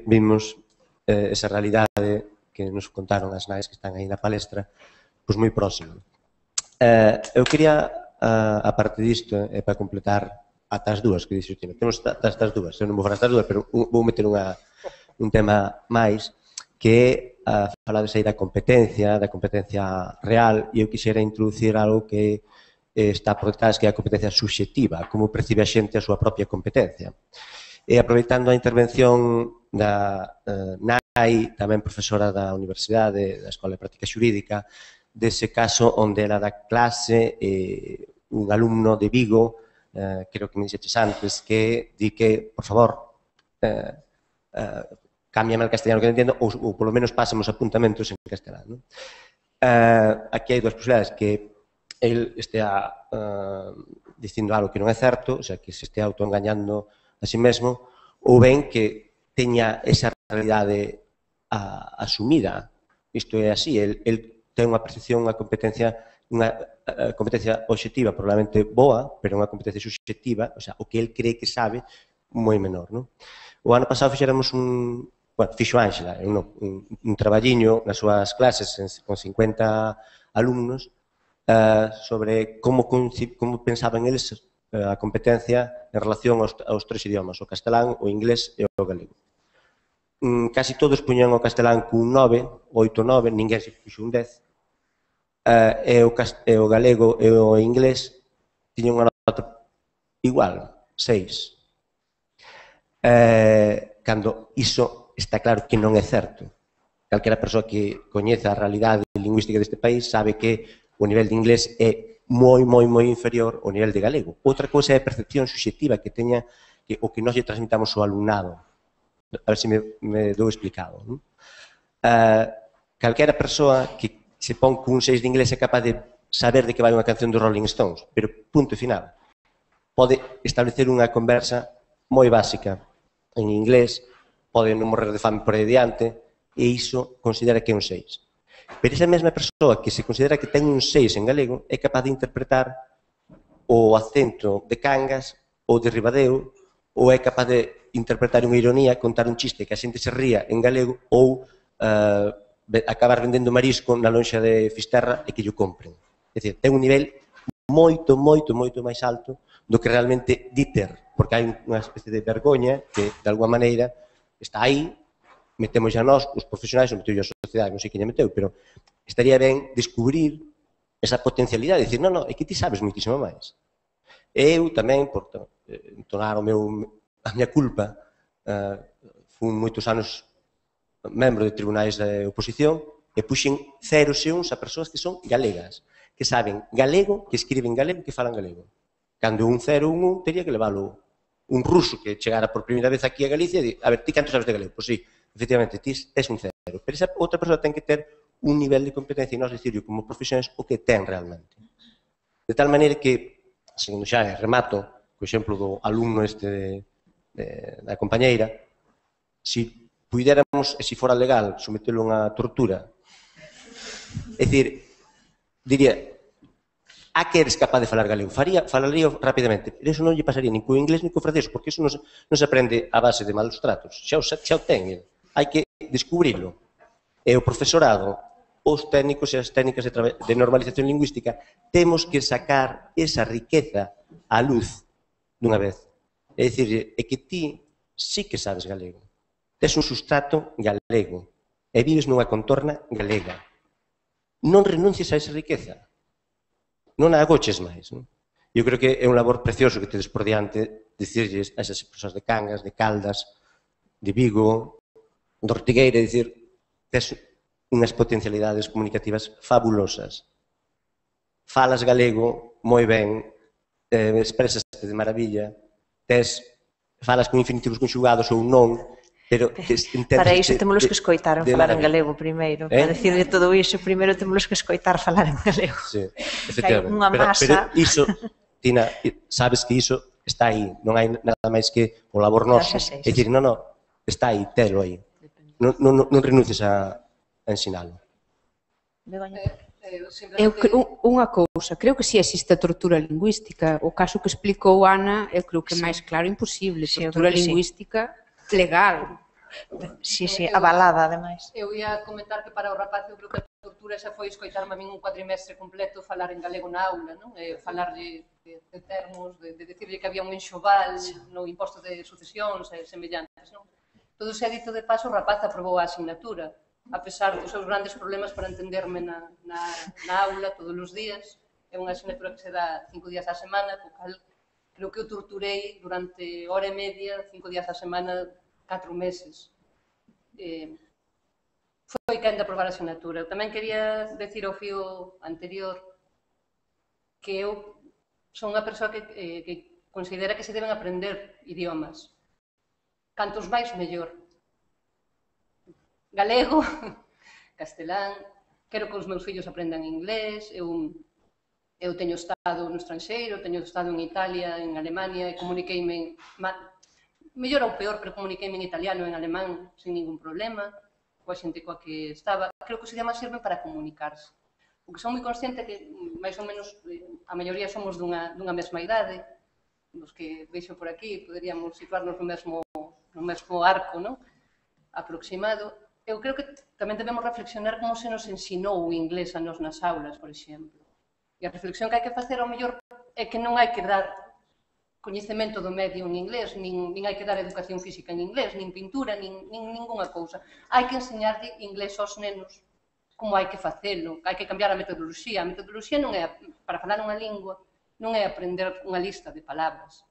vimos esa realidade que nos contaron as nais que están aí na palestra, pois moi próximo. Eu quería, a parte disto, para completar ata as dúas que dixo Tino, temos ata as dúas, eu non vou falar ata as dúas, pero vou meter un tema máis, que é falades aí da competencia real, e eu quixera introducir algo que está por detrás, que é a competencia subxectiva, como percibe a xente a súa propia competencia. E aproveitando a intervención da Nai, tamén profesora da Universidade, da Escola de Práctica Xurídica, dese caso onde ela dá clase un alumno de Vigo, creo que me dixeches antes, que di que, por favor, cámbiame al castellano que non entendo, ou polo menos pásame os apuntamentos en castelano. Aquí hai dúas posibilidades, que el estea dicindo algo que non é certo, o sea, que se estea autoengañando a si mesmo, ou ben que teña esa realidade asumida. Isto é así, el ten unha percepción, unha competencia obxectiva probablemente boa, pero unha competencia subxectiva, o sea, o que el cree que sabe, moi menor, non? O ano pasado fixéramos fixo Ángela, un traballiño nas súas clases con 50 alumnos sobre como pensaban eles a competencia en relación aos 3 idiomas, o castelán, o inglés e o galego. Casi todos puñan o castelán cun 9, 8, 9, ninguén se puxo un 10, e o galego e o inglés tiñan unha nota igual, 6. Cando iso está claro que non é certo. Calquera persoa que coñeza a realidade lingüística deste país sabe que o nivel de inglés é moi inferior ao nivel de galego. Outra cousa é a percepción subxectiva que teña o que nós lle transmitamos ao alumnado. A ver se me dou explicado. Calquera persoa que se pon cun 6 de inglés é capaz de saber de que vai unha canción dos Rolling Stones, pero punto final. Pode establecer unha conversa moi básica en inglés, pode non morrer de fame por aí diante, e iso considera que é un 6. Pero esa mesma persoa que se considera que ten un 6 en galego é capaz de interpretar o acento de Cangas ou de Ribadeo, ou é capaz de interpretar unha ironía, contar un chiste que a xente se ría en galego ou acabar vendendo marisco na lonxa de Fisterra e que lle compren. É dicir, ten un nivel moito máis alto do que realmente di ter, porque hai unha especie de vergoña que, de alguma maneira, está aí, metemos xa nós, os profesionais, non meteu a sociedade, non sei quen lle meteu, pero estaría ben descubrir esa potencialidade, dicir, non, é que ti sabes moitísimo máis. Eu tamén, por entonar a miña culpa, fun moitos anos membro de tribunais de oposición e puxen 0 e 1 a persoas que son galegas, que saben galego, que escriben galego, que falan galego. Cando un 0 1 teria que leválo un ruso que chegara por primeira vez aquí a Galicia e di, a ver, ti canto sabes de galego? Pois sí, efectivamente, ti tes un 0. Pero esa outra persoa ten que ter un nivel de competencia e nós dicirlo como profesionais o que ten realmente. De tal maneira que, segundo xa remato, co exemplo do alumno da compañeira, se puidéramos, e se fora legal, sometelo a unha tortura, é dicir, diría, a que eres capaz de falar galego? Falaría rapidamente, pero iso non lle pasaría nin co inglés nin co francés, porque iso non se aprende a base de malos tratos, xa o ten, hai que descubrirlo. E o profesorado, os técnicos e as técnicas de normalización lingüística, temos que sacar esa riqueza á luz dunha vez. É dicir, é que ti sí que sabes galego. Tes un sustrato galego e vives nunha contorna galega. Non renuncies a esa riqueza. Non a agoches máis. Eu creo que é un labor precioso que tedes por diante dicirlles a esas persoas de Cangas, de Caldas, de Vigo, de Ortigueira, dicir, tes unhas potencialidades comunicativas fabulosas. Falas galego moi ben, expresaste de maravilla, falas con infinitivos conxugados ou non, pero... Para iso temos que escoitar falar en galego primeiro. Para decirle todo iso, primeiro temos que escoitar falar en galego. Sí, efectivamente. Pero iso, Tina, sabes que iso está aí, non hai nada máis que o labor noso. É dicir, non, está aí, telo aí. Non renuncies a ensinalo. Unha cousa, creo que si existe a tortura lingüística. O caso que explicou Ana, eu creo que é máis claro imposible. Tortura lingüística legal. Sí, avalada, ademais. Eu ia comentar que para o rapaz eu creo que a tortura xa foi escoitarme a min un cuatrimestre completo falar en galego na aula, non? Falar de termos, de decirle que había un enxoval no imposto de sucesións e semellantes, non? Todo se ha dito de paso, o rapaz aprobou a asignatura, a pesar dos seus grandes problemas para entenderme na aula todos os días. É unha asignatura que se dá 5 días á semana, co cal creo que o torturei durante hora e media, 5 días á semana, 4 meses. Foi quen de aprobar a asignatura. Eu tamén quería decir ao fío anterior que eu son unha persoa que considera que se deben aprender idiomas. Cantos máis, mellor. Galego, castelán, quero que os meus fillos aprendan inglés, eu teño estado no estranxeiro, teño estado en Italia, en Alemania, e comuniqueime, mellor ou peor, pero comuniqueime en italiano e en alemán sin ningún problema, coa xente coa que estaba. Creo que os idiomas sirven para comunicarse. Porque son moi consciente que, máis ou menos, a maioría somos dunha mesma idade, nos que veixo por aquí, poderíamos situarnos no mesmo arco, non? Aproximado. Eu creo que tamén debemos reflexionar como se nos ensinou o inglés a nos nas aulas, por exemplo. E a reflexión que hai que facer, ao mellor, é que non hai que dar coñecemento do medio en inglés, nin hai que dar educación física en inglés, nin pintura, nin ningunha cousa. Hai que enseñarlle inglés aos nenos como hai que facelo, hai que cambiar a metodoloxía. A metodoloxía non é, para falar unha lingua, non é aprender unha lista de palabras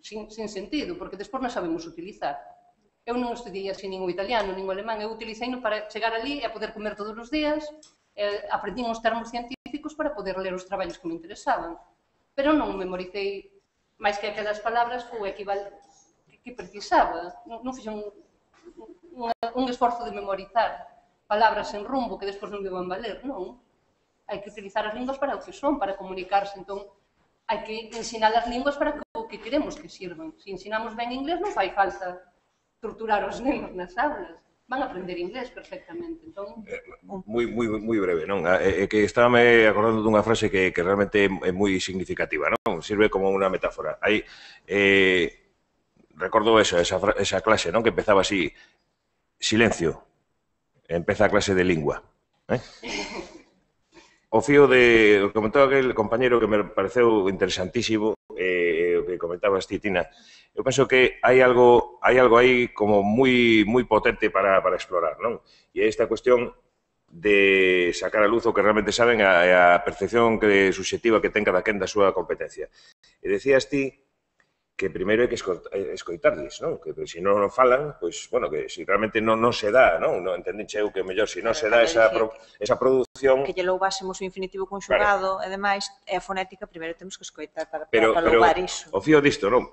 sin sentido, porque despois non sabemos utilizar. Eu non estudiei así nin o italiano, nin o alemán, eu utilicei-no para chegar ali e poder comer todos os días, aprendín os termos científicos para poder ler os traballos que me interesaban. Pero non memoricei máis que aquelas palabras o equivalente que precisaba. Non fixen un esforzo de memorizar palabras en rumbo que despois non me van valer, non. Hai que utilizar as linguas para o que son, para comunicarse. Entón, hai que ensinar as linguas para o que queremos que sirvan. Se ensinamos ben inglés, non fai falta torturar os nenos nas aulas. Van a aprender inglés perfectamente. Moi breve, non? É que estábame acordando dunha frase que realmente é moi significativa, non? Sirve como unha metáfora. Recordo esa clase, non? Que empezaba así: silencio. empeza a clase de lingua. O fío de... Comentaba aquel compañero que me pareceu interesantísimo, o que comentabas ti, Tina. Eu penso que hai algo aí como moi potente para explorar, non? E esta cuestión de sacar a luz o que realmente saben a percepción subxectiva que ten cada quen da súa competencia. E decías ti que primeiro hai que escoitarles, non? Que se non falan, pois, bueno, que se realmente non se dá, non? Non entendiche eu que mellor se non se dá esa produción... Que lle louvásemos o infinitivo conxugado, e demais, e a fonética, primeiro temos que escoitar para louvar iso. O fío disto, non?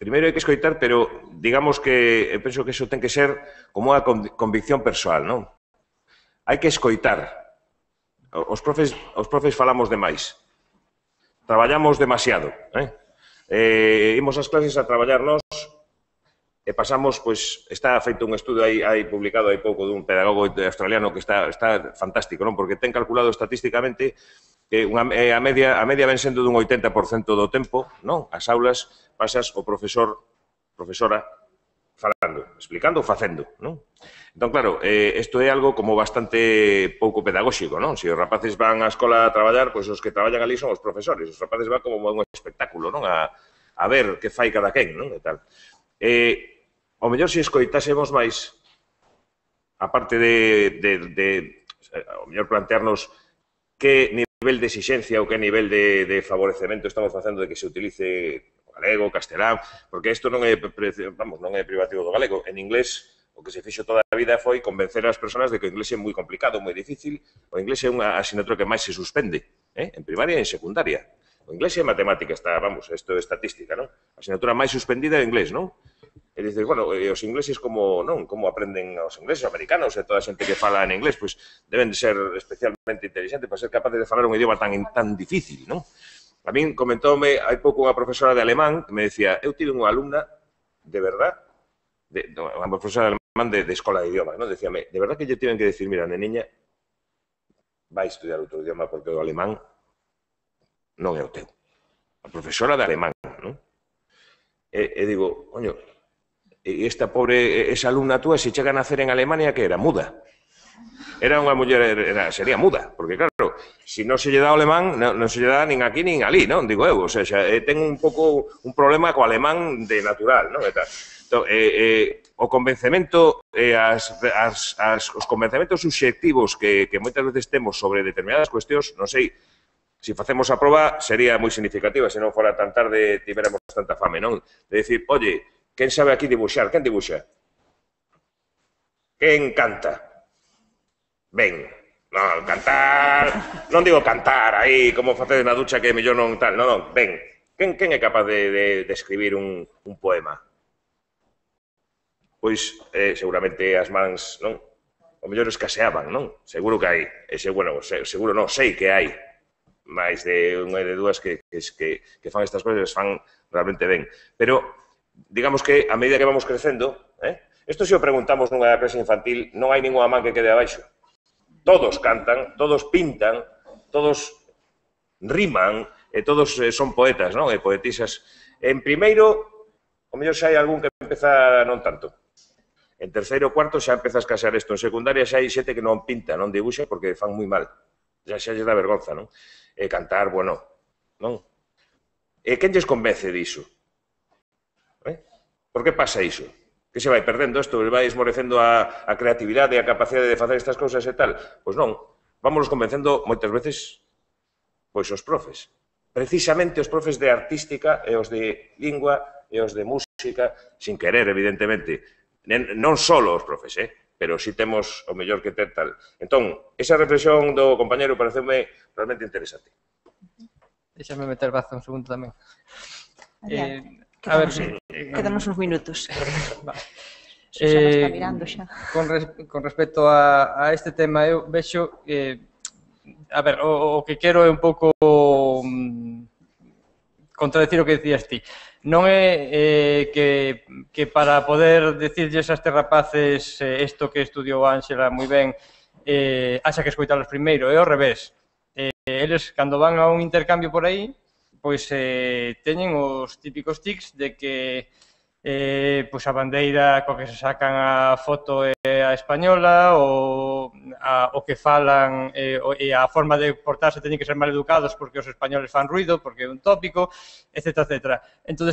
Primeiro hai que escoitar, pero digamos que eu penso que iso ten que ser como unha convicción persoal, non? Hai que escoitar. Os profes falamos demais. Traballamos demasiado, imos ás clases a traballar nós e pasamos, pois, está feito un estudo aí publicado hai pouco dun pedagogo australiano que está fantástico, non? Porque ten calculado estatísticamente que a media ven sendo dun 80% do tempo, non? As aulas pasas o profesora falando, explicando ou facendo, non? Entón, claro, isto é algo como bastante pouco pedagóxico, non? Se os rapaces van á escola a traballar, pois os que traballan ali son os profesores. Os rapaces van como un espectáculo, non? A ver que fai cada quen, non? E tal. O mellor se escoitásemos máis, aparte de o mellor plantearnos que nivel de exigencia ou que nivel de favorecemento estamos facendo de que se utilice o galego, o castelán, porque isto non é privativo do galego. En inglés, o que se fixo toda a vida foi convencer as persoas de que o inglés é moi complicado, moi difícil. O inglés é unha asignatura que máis se suspende, en primaria e en secundaria. O inglés é matemática, isto é estatística, non? A asignatura máis suspendida é o inglés, non? E dices, bueno, os ingleses como aprenden os ingleses, os americanos e toda a xente que fala en inglés, pois deben de ser especialmente inteligentes para ser capaces de falar un idioma tan difícil, non? A min comentoume hai pouco unha profesora de alemán que me decía, eu tive unha alumna, de verdad, unha profesora de alemán de escola de idiomas, non? Decíame, de verdad que lle tiven que decir, mira, neniña, vai estudiar outro idioma porque o alemán non é o teu. A profesora de alemán, non? E digo, coño, esta pobre, esa alumna túa, se chega a nacer en Alemania, que era muda. Era unha muller, sería muda, porque claro, se non se lle dá o alemán, non se lle dá nin aquí nin ali, non? Digo eu, o sea, ten un pouco un problema co alemán de natural, non? Entón, o convencemento, os convencementos subxectivos que moitas veces temos sobre determinadas cuestións, non sei, se facemos a proba sería moi significativa, se non fora tan tarde tivéramos tanta fame, non? De dicir, oye, quen sabe aquí dibuixar? Quen dibuixa? Quen canta? Ben, non, cantar, non digo cantar aí, como facedes na ducha que mellor non tal, non, ben, quen é capaz de escribir un poema? Pois, seguramente as mans, non? O mellor escaseaban, non? Seguro que hai, seguro non, sei que hai máis de unha e de dúas que fan estas cousas, fan realmente ben. Pero, digamos que, a medida que vamos crecendo, isto se o preguntamos nunha clase infantil, non hai ninguna man que quede abaixo. Todos cantan, todos pintan, todos riman, e todos son poetas, non? E poetisas. En primeiro, o mellor xa hai algún que empeza non tanto. En terceiro ou cuarto xa empeza a escasear isto. En secundaria xa hai xente que non pinta, non dibuxa, porque fan moi mal. Xa lles dá vergonza, non? E cantar, bueno, non? E quen lles convence diso? Por que pasa iso? Que se vai perdendo isto? Vai esmorecendo a creatividade e a capacidade de facer estas cousas e tal? Pois non. Vámonos convencendo moitas veces pois os profes. Precisamente os profes de artística e os de lingua e os de música, sin querer, evidentemente. Non só os profes, pero si temos o mellor que ter tal. Entón, esa reflexión do compañero pareceume realmente interesante. Déxame meter baza un segundo tamén. Quédanos uns minutos. Susana está mirando xa. Con respecto a este tema, eu vexo que, a ver, o que quero é un pouco contradecir o que decías ti. Non é que para poder decirlles a estes rapaces isto que estudiou Ángela moi ben, haxa que escoitalos primeiro, é ao revés. Eles, cando van a un intercambio por aí, pois teñen os típicos tics de que pois a bandeira coa que se sacan a foto é a española, o que falan e a forma de portarse teñen que ser mal educados porque os españoles fan ruido, porque é un tópico, etc. Entón,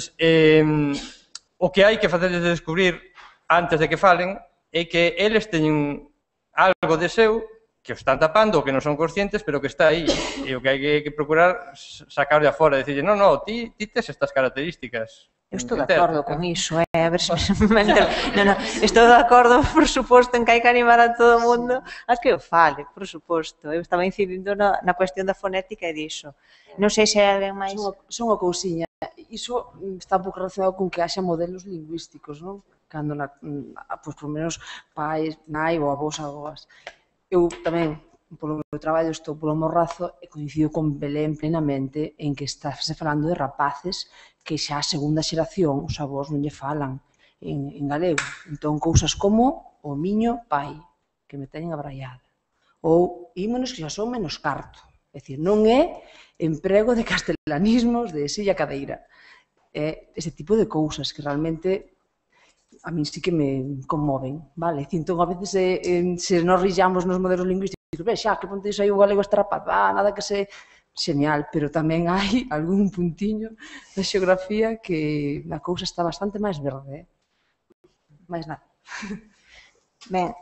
o que hai que facerles de descubrir antes de que falen é que eles teñen algo de seu que os están tapando, que non son conscientes, pero que está aí. E o que hai que procurar sacar de afora, decirle, non, ti tes estas características. Eu estou de acordo con iso, a ver se me entero. Non, estou de acordo, por suposto, en que hai que animar a todo o mundo a que o fale, por suposto. Eu estaba incidindo na cuestión da fonética e diso. Non sei se hai alguén máis... Son unha cousiña. Iso está un pouco relacionado con que haxa modelos lingüísticos, non? Cando, pois, por menos, pais, nai ou avós, avoas. Eu tamén, polo meu traballo, estou polo Morrazo e coincido con Belén plenamente en que estáse falando de rapaces que xa a segunda xeración os avós non lle falan en galego. Entón, cousas como o miño pai, que me teñen abraiada. Ou ímonos que xa son menos carto. É dicir, non é emprego de castelanismos de silla cadeira. É ese tipo de cousas que realmente a min sí que me conmoven, vale? Entón, a veces, se nos rillamos nos modelos lingüísticos, xa, que ponte aí o galego este rapaz, nada que se... Xenial, pero tamén hai algún puntiño da xeografía que a cousa está bastante máis verde, máis nada. Ben,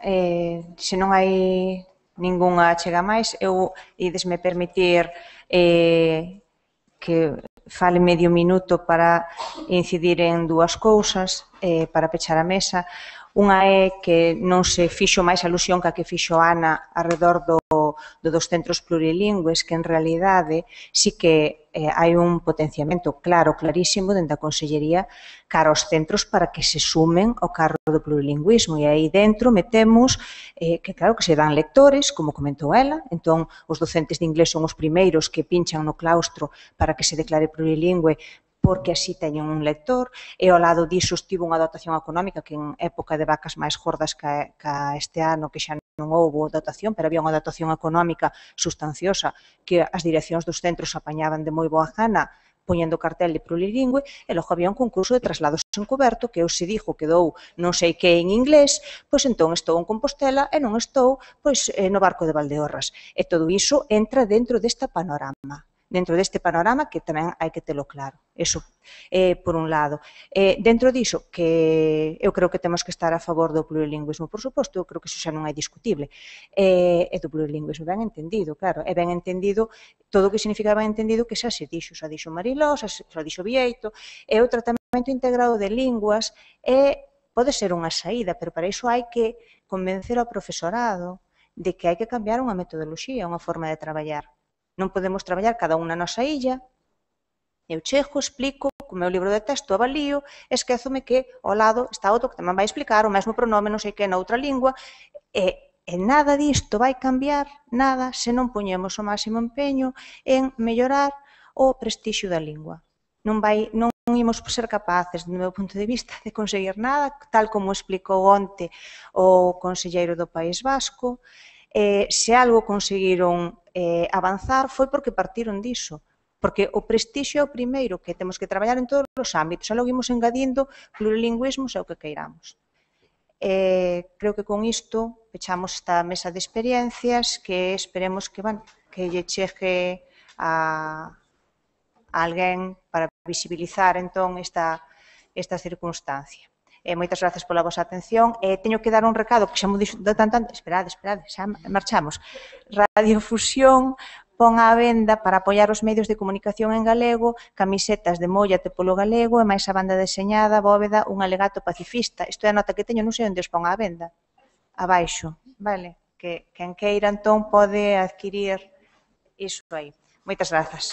se non hai ningunha chega máis, eu idesme permitir que fale medio minuto para incidir en dúas cousas para pechar a mesa. Unha é que non se fixo máis alusión que a que fixo Ana arredor dos centros plurilingües, que en realidade sí que hai un potenciamento clarísimo dentro da Consellería cara aos centros para que se sumen ao carro do plurilingüismo, e aí dentro metemos que claro que se dan lectores, como comentou ela, entón os docentes de inglés son os primeiros que pinchan no claustro para que se declare plurilingüe, porque así teñen un lector, e ao lado diso estivo unha dotación económica que en época de vacas máis gordas ca este ano, que xa non houbo dotación, pero había unha dotación económica sustanciosa que as direccións dos centros apañaban de moi boa gana poñendo cartel de plurilingüe, e logo había un concurso de traslados encoberto que se dixo quedou non sei que en inglés, pois entón estou en Compostela e non estou pois no barco de Valdeorras. E todo iso entra dentro deste panorama. Dentro deste panorama que tamén hai que telo claro. Eso, por un lado. Dentro diso, que eu creo que temos que estar a favor do plurilingüismo, por suposto, eu creo que iso xa non é discutible. E do plurilingüismo ben entendido, claro, é ben entendido todo o que significa ben entendido que xa se dixo, xa dixo Mariló, xa dixo Vieito, e o tratamento integrado de linguas pode ser unha saída, pero para iso hai que convencer ao profesorado de que hai que cambiar unha metodoloxía, unha forma de traballar. Non podemos traballar cada unha na nosa illa. Eu chego, explico, co meu libro de texto avalío, esquézome que ao lado está outro que tamén vai explicar o mesmo pronome, non sei que, na outra lingua, e nada disto vai cambiar, nada, se non poñemos o máximo empeño en mellorar o prestixio da lingua. Non imos ser capaces, do meu punto de vista, de conseguir nada, tal como explicou onte o conselleiro do País Vasco. Se algo conseguiron avanzar foi porque partiron diso, porque o prestixio é o primeiro que temos que traballar en todos os ámbitos, e logo imos engadindo plurilingüismos e o que queiramos. Creo que con isto pechamos esta mesa de experiencias que esperemos que lle chegue a alguén para visibilizar entón esta circunstancia. Moitas grazas pola vosa atención. Teño que dar un recado que xa mo dixo tanto. Esperade, xa marchamos. Radiofusión pon á venda para apoiar os medios de comunicación en galego camisetas de Móllate polo galego e máis a banda deseñada Bóveda, un alegato pacifista. Isto é a nota que teño, non sei onde os pon á venda. Abaixo, vale? Que quen queira entón pode adquirir iso aí. Moitas grazas.